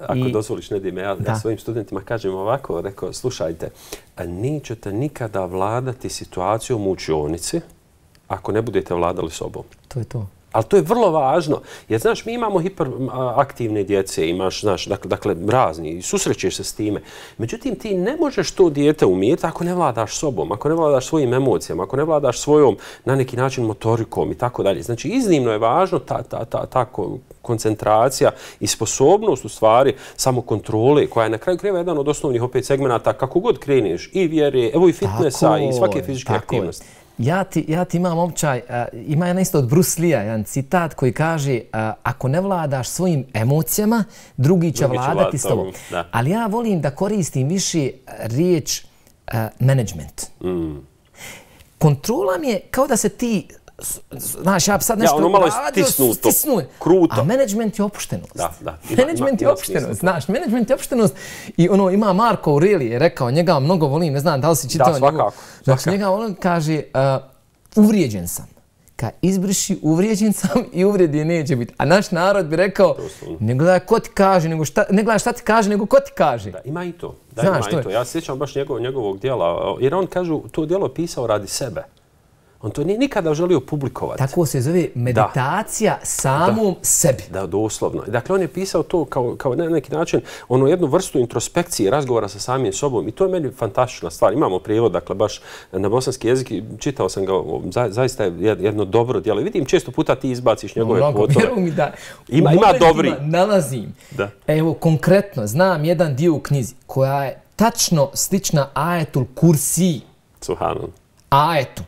Ako dozvoliš, Nedime, ja svojim studentima kažem ovako, rekao, slušajte, nećete nikada vladati situacijom u učionici ako ne budete vladali sobom. To je to. Ali to je vrlo važno, jer znaš, mi imamo hiperaktivne djece, imaš, znaš, dakle, razni, i susrećeš se s time. Međutim, ti ne možeš to dijete umijeti ako ne vladaš sobom, ako ne vladaš svojim emocijama, ako ne vladaš svojom, na neki način, motorikom i tako dalje. Znači, iznimno je važno ta koncentracija i sposobnost, u stvari, samokontrole, koja je na kraju krajeva jedan od osnovnih opet segmenata, kako god kreniš, i vjere, evo i fitnessa, i svake fizičke aktivnosti. Ja ti imam običaj, ima jedan isto od Bruce Lee-a, jedan citat koji kaže ako ne vladaš svojim emocijama, drugi će vladati s tobom. Ali ja volim da koristim više riječ management. Kontrola mi je kao da se ti, znaš, ja sad nešto malo stisnuo, kruto. A management je opuštenost. Management je opuštenost, znaš, management je opuštenost. I ima Marko Aurelije je rekao, njega mnogo volim, ne znam da li si čitao njegov. Da, svakako. Znači, njega on kaže, uvrijeđen sam. Izbriši, uvrijeđen sam i uvredi neće biti. A naš narod bi rekao, ne gledaj ko ti kaže, ne gledaj šta ti kaže, nego ko ti kaže. Da, ima i to. Ja se sjećam baš njegovog dijela, jer on kažu, to dijelo pisao radi sebe. On to nije nikada želio publikovati. Tako se zove meditacija samom sebi. Da, doslovno. Dakle, on je pisao to kao na neki način jednu vrstu introspekcije, razgovora sa samim sobom. I to je meni fantastična stvar. Imamo prijevod, dakle, baš na bosanski jezik. Čitao sam ga, zaista je jedno dobro djelo. I vidim, često puta ti izbaciš njegove kvotove. Vjeruj mi da ima dobri. Nalazim. Evo, konkretno, znam jedan dio u knjizi koja je tačno slična ajetul kursi. Subhanallah. Ajetu.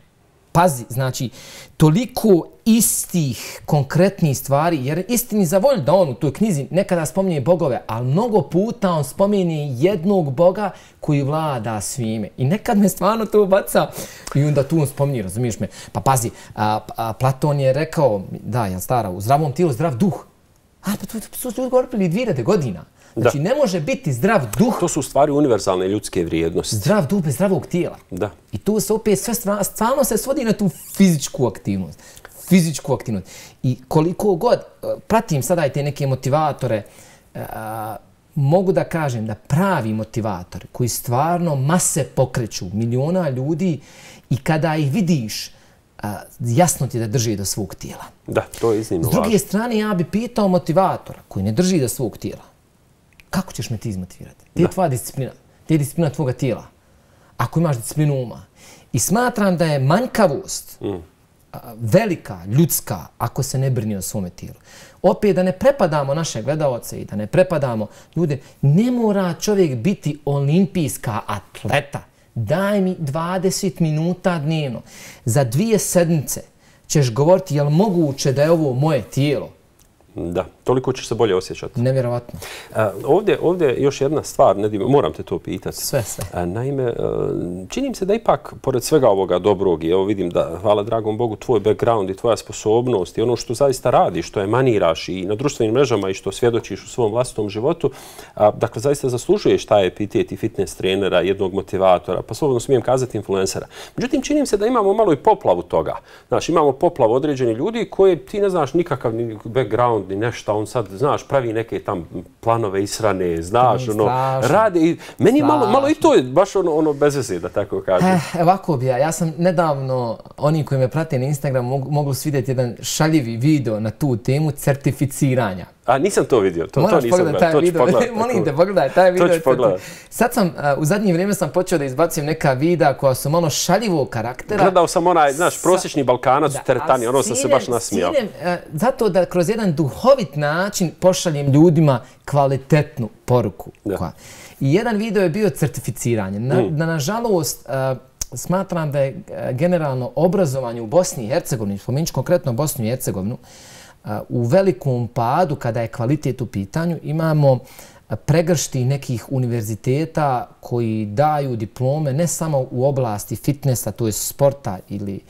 Pazi, znači, toliko istih konkretnih stvari, jer istini za volju da on u toj knjizi nekada spominje bogove, ali mnogo puta on spominje jednog boga koji vlada svime. I nekad me stvarno to baca i onda tu on spominje, razumiješ me. Pa pazi, Platon je rekao, jel stara, u zdravom tijelu zdrav duh. Pa to su ljudi govorili 2000 godina. Znači, ne može biti zdrav duh. To su u stvari univerzalne ljudske vrijednosti. Zdrav duh bez zdravog tijela. Da. I tu se opet sve stvarno se svodi na tu fizičku aktivnost. Fizičku aktivnost. I koliko god pratim sada i te neke motivatore, mogu da kažem da pravi motivatori koji stvarno mase pokreću, miliona ljudi i kada ih vidiš, jasno ti da drži do svog tijela. Da, to je iznimno važno. S druge strane, ja bi pitao motivatora koji ne drži do svog tijela. Kako ćeš me ti izmotivirati? Gdje je tvoja disciplina? Gdje je disciplina tvoga tijela? Ako imaš disciplinu uma. I smatram da je manjkavost velika, ljudska, ako se ne brini o svome tijelu. Opet da ne prepadamo naše gledalce i da ne prepadamo ljude, ne mora čovjek biti olimpijska atleta. Daj mi 20 minuta dnevno. Za 2 sedmice ćeš govoriti je li moguće da je ovo moje tijelo. Da, toliko ćeš se bolje osjećati. Nevjerovatno. Ovdje još jedna stvar, moram te to pitati. Sve. Naime, čini mi se da ipak, pored svega ovoga dobrog, evo vidim da, hvala dragom Bogu, tvoj background i tvoja sposobnost i ono što zaista radiš, što emaniraš i na društvenim mrežama i što svjedočiš u svom vlastitom životu, dakle, zaista zaslužuješ taj epitet i fitness trenera, jednog motivatora, pa slobodno smijem kazati influencera. Međutim, čini mi se da imamo malo i poplavu toga. Znaš, imamo poplavu određenih ljudi koje ti ne znaš nikakav ni background, ni nešto, on sad, znaš, pravi neke tam planove israne, znaš, rade i meni malo i to je baš ono bez veze, da tako kažem. Ovako bi ja sam nedavno, oni koji me prate na Instagramu, mogli vidjeti jedan šaljivi video na tu temu certificiranja. A nisam to vidio, to Moraš nisam pogledati taj video. Molim te, pogledaj taj video. To ću pogledati. Sad sam, u zadnje vrijeme sam počeo da izbacim neka videa koja su malo šaljivog karaktera. Gledao sam onaj, znaš, prosječni Balkanac u teretani, ono sam se baš nasmijao. Zato da kroz jedan duhovit način pošaljem ljudima kvalitetnu poruku. I jedan video je bio certificiranje. Nažalost, smatram da je generalno obrazovanje u Bosni i Hercegovini, spomenut ću konkretno Bosnu i Hercegovinu, u velikom padu kada je kvalitet u pitanju. Imamo pregršti nekih univerziteta koji daju diplome ne samo u oblasti fitnessa, to je sporta ili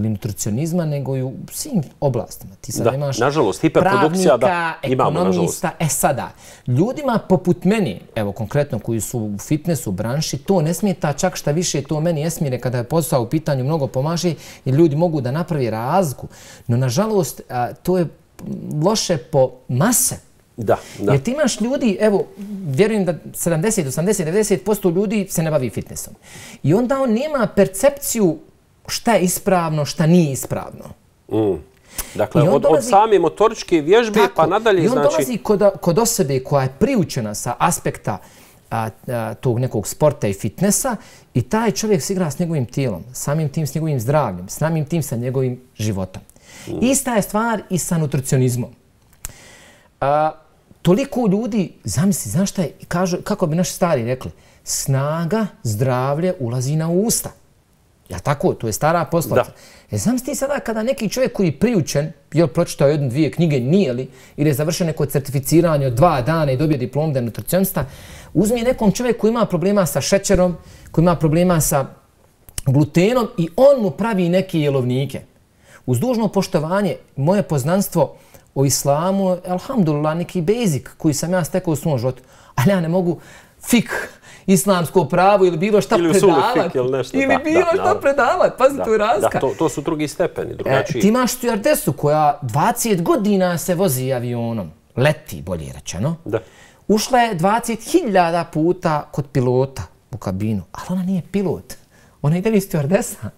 nutricionizma, nego i u svim oblastima. Ti sad imaš nažalost, hiperprodukcija, pravnika, ekonomista. Sada, ljudima poput meni, evo konkretno koji su u fitnessu, branši, to ne smeta, čak šta više to meni esmire kada je posao u pitanju mnogo pomaže jer ljudi mogu da napravi razliku. No, nažalost, to je loše po mase. Da. Jer ti imaš ljudi, evo, vjerujem da 70, 80, 90% ljudi se ne bavi fitnessom. I onda on nema percepciju šta je ispravno, šta nije ispravno. Dakle, od same motoričke vježbe pa nadalje, znači... I on dolazi kod osobe koja je priučena sa aspekta tog nekog sporta i fitnessa i taj čovjek se igra s njegovim tijelom, samim tim s njegovim zdravljem, samim tim sa njegovim životom. Ista je stvar i sa nutricionizmom. Toliko ljudi, zamisli, znaš šta je, kako bi naši stari rekli, snaga, zdravlje ulazi na usta. Ja tako, to je stara poslovica. Zamisli sada kada neki čovjek koji je priučen, je pročitao jednu, dvije knjige, nije li, ili je završio neko certificiranje od 2 dana i dobio diplom da je nutricionista, uzmi nekom čovjeku koji ima problema sa šećerom, koji ima problema sa glutenom i on mu pravi neke jelovnike. Uz dužno poštovanje, moje poznanstvo o islamu, alhamdulillah, neki basic koji sam ja stekao u svom životu, ali ja ne mogu islamsko pravo ili bilo šta predavati. Ili bilo šta predavati. Pazi, to je razlika. To su drugi stepeni, drugačiji. Ti imaš stjuardesu koja 20 godina se vozi avionom. Leti, bolje rečeno. Ušla je 20.000 puta kod pilota u kabinu, ali ona nije pilot. Ona ide li stjuardesa.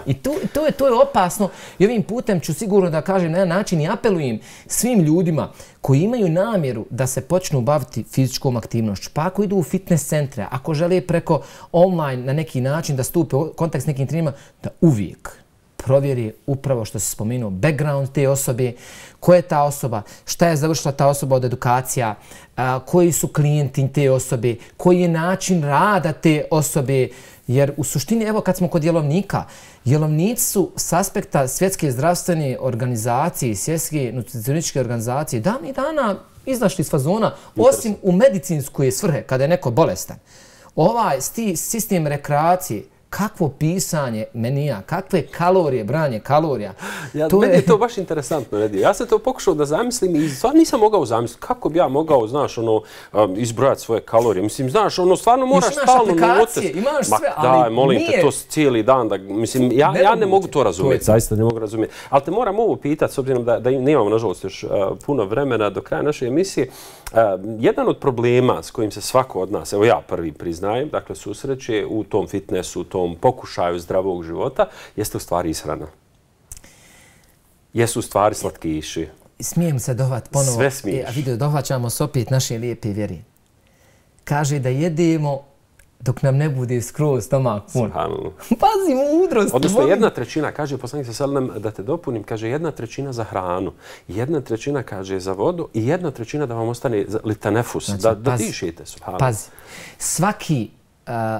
I to je opasno. I ovim putem ću sigurno da kažem na jedan način i apelujem svim ljudima koji imaju namjeru da se počnu baviti fizičkom aktivnošću. Pa ako idu u fitness centre, ako žele preko online na neki način da stupe u kontakt s nekim trenerima, da uvijek provjeri upravo što se spomenuo background te osobe, ko je ta osoba, šta je završila ta osoba od edukacija, koji su klijenti te osobe, koji je način rada te osobe. Jer u suštini, evo kad smo kod jelovnika, jelovnici su s aspekta Svjetske zdravstvene organizacije i Svjetske nutricionističke organizacije davnih dana izašli iz fazona, osim u medicinskoj svrhe, kada je neko bolestan. Ovaj sistem rekreacije, kakvo pisanje menija, kakve kalorije, branje kalorija. Meni je to baš interesantno, Redi. Ja sam to pokušao da zamislim i stvarno nisam mogao zamisliti kako bi ja mogao, znaš, izbrojati svoje kalorije. Mislim, znaš, stvarno moraš stalno aplikacije, imaš sve, ali daj, molim te, to cijeli dan. Mislim, ja ne mogu to razumjeti, zaista ne mogu razumjeti. Ali te moram ovo pitati, s obzirom da nemamo, nažalost, još puno vremena do kraja naše emisije. Jedan od problema s kojim se svako od nas, evo ja prvi priznajem, dakle, susreće u tom fitnessu, u tom pokušaju zdravog života, jeste u stvari ishrana. Jesu u stvari slatkiši. Smijem se dohvat ponovo. Sve smiješ. A vidio, dohvaćamo se opet naše lijepe vjeri. Kaže da jedemo dok nam ne bude skroz stomak pun. Pazi, mudrost. Odnosno, 1/3, kaže poslanik sa selem, da te dopunim, kaže 1/3 za hranu, 1/3 kaže za vodu i 1/3 da vam ostane litanefus, da dišete. Pazi, svaki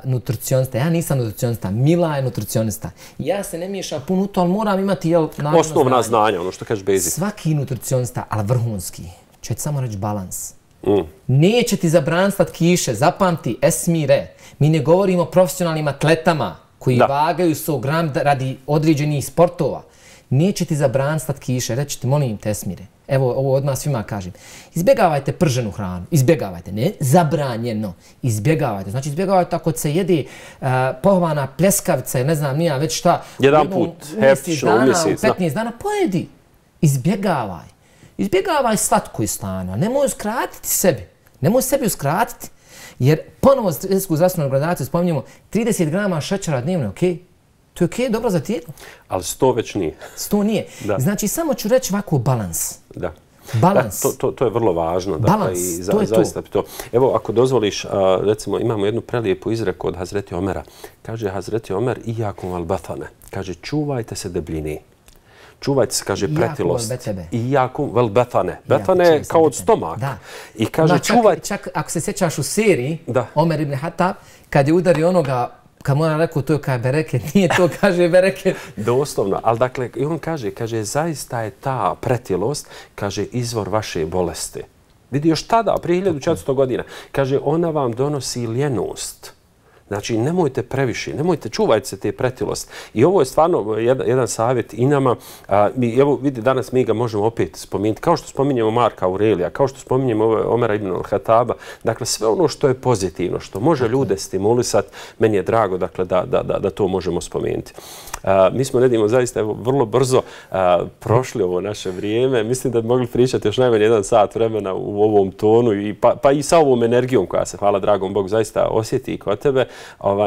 nutricionista, ja nisam nutricionista, Mila je nutricionista. Ja se ne miješam puno u to, ali moram imati osnovna znanja, ono što kažeš basic. Svaki nutricionista, ali vrhunski, će ti samo reći balans. Neće ti zabraniti slatkiše, zapamti, esmire. Mi ne govorimo o profesionalnim atletama koji vagaju 100 gram radi određenih sportova. Neće ti zabraniti slatkiše, reći ti, molim te, esmire. Evo, ovo odmah svima kažem. Izbjegavajte prženu hranu. Izbjegavajte. Ne zabranjeno. Izbjegavajte. Znači, izbjegavajte ako se jede pohovana pljeskavica ili ne znam nija već šta. Jedan put, heftično, u mjesec. 15 dana, pojedi. Izbjegavaj. Izbjegavaj slatko i slano. Nemoj uskratiti sebi. Nemoj sebi uskratiti. Jer ponovo Svjetsku zdravstvenu organizaciju spominjemo 30 grama šećera dnevno, okej? To je okej, dobro za tijelo. Ali 100 već nije. 100 nije. Znači, samo ću reći ovako balans. Balans. To je vrlo važno. Balans, to je zaista to. Evo, ako dozvoliš, recimo, imamo jednu prelijepu izreku od Hazreti Omera. Kaže Hazreti Omer, ijakum val batane. Kaže, čuvajte se debljini. Čuvajte se, kaže, pretilost. Ijakum vel betane. Betane je kao od stomaka. I kaže, čuvajte... Čak ako se sjećaš u seriji, Omer ibn Hatab, kad je udari onoga, kad mu on rekao, to je kaj bereket, nije to, kaže bereket. Doslovno, ali dakle, i on kaže, zaista je ta pretilost, kaže, izvor vaše bolesti. Vidi, još tada, prije 1400 godina, kaže, ona vam donosi ljenost. Znači, nemojte previše, nemojte, čuvajte se te pretilost. I ovo je stvarno jedan savjet i nama. Evo, vidi, danas mi ga možemo opet spomenuti. Kao što spominjemo Marka Aurelija, kao što spominjemo Omera ibn al-Hataba. Dakle, sve ono što je pozitivno, što može ljude stimulisati, meni je drago dakle, da to možemo spomenuti. Mi smo, Nedimo, zaista vrlo brzo prošli ovo naše vrijeme. Mislim da bi mogli pričati još najmanje 1 sat vremena u ovom tonu, pa i sa ovom energijom koja se, hvala dragom Bogu, zaista osjeti i kod tebe.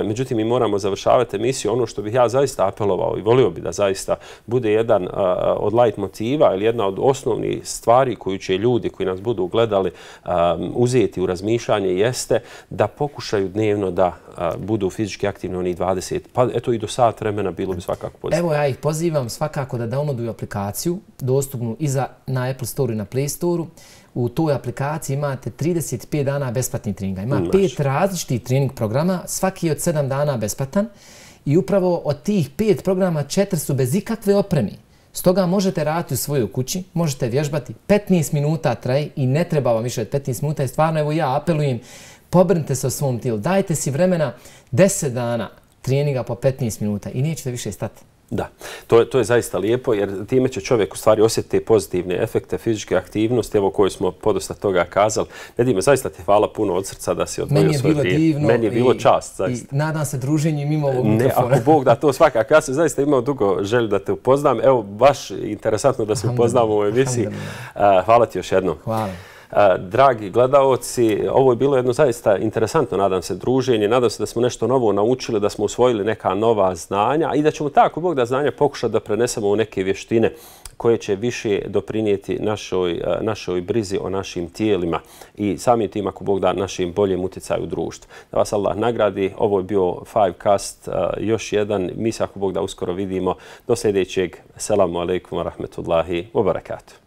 Međutim, mi moramo završavati emisiju. Ono što bih ja zaista apelovao i volio bi da zaista bude jedan od light motiva ili jedna od osnovnih stvari koju će ljudi koji nas budu gledali uzeti u razmišljanje jeste da pokušaju dnevno da budu fizički aktivni onih 20, pa eto i do sat vremena bilo bi svakako pozitivno. Evo ja ih pozivam svakako da downloaduju aplikaciju dostupnu i na Apple Store i na Play Store. U toj aplikaciji imate 35 dana besplatnih treninga. Ima 5 različitih trening programa, svaki je od 7 dana besplatan i upravo od tih 5 programa 4 su bez ikakve opreme. Stoga možete raditi u svojoj kući, možete vježbati, 15 minuta traje i ne treba vam više od 15 minuta i stvarno evo ja apelujem, pobrnite se o svom tijelu, dajte si vremena 10 dana treninga po 15 minuta i nećete više stati. Da, to je zaista lijepo jer time će čovjek u stvari osjetiti pozitivne efekte fizičke aktivnosti, evo koje smo podosta toga kazali. Nedime, zaista ti hvala puno od srca da si odvojio svoj vrijeme. Meni je bilo divno. Meni je bilo čast, zaista. I nadam se druženjem mimo ovog mikrofona. Ne, ako Bog da to svakako. Ja sam zaista imao dugo želju da te upoznam. Evo, baš interesantno da se upoznamo u ovoj emisiji. Hvala ti još jednom. Hvala. Dragi gledaoci, ovo je bilo jedno zaista interesantno, nadam se, druženje. Nadam se da smo nešto novo naučili, da smo usvojili neka nova znanja i da ćemo tako Bog da znanja pokušati da prenesemo u neke vještine koje će više doprinijeti našoj brizi o našim tijelima i samim tim, ako Bog da, našim boljem utjecaju u društvu. Da vas Allah nagradi. Ovo je bio Fivecast, još jedan. Mi se, ako Bog da, uskoro vidimo. Do sljedećeg. Selamu alaikum wa rahmetullahi wa barakatuh.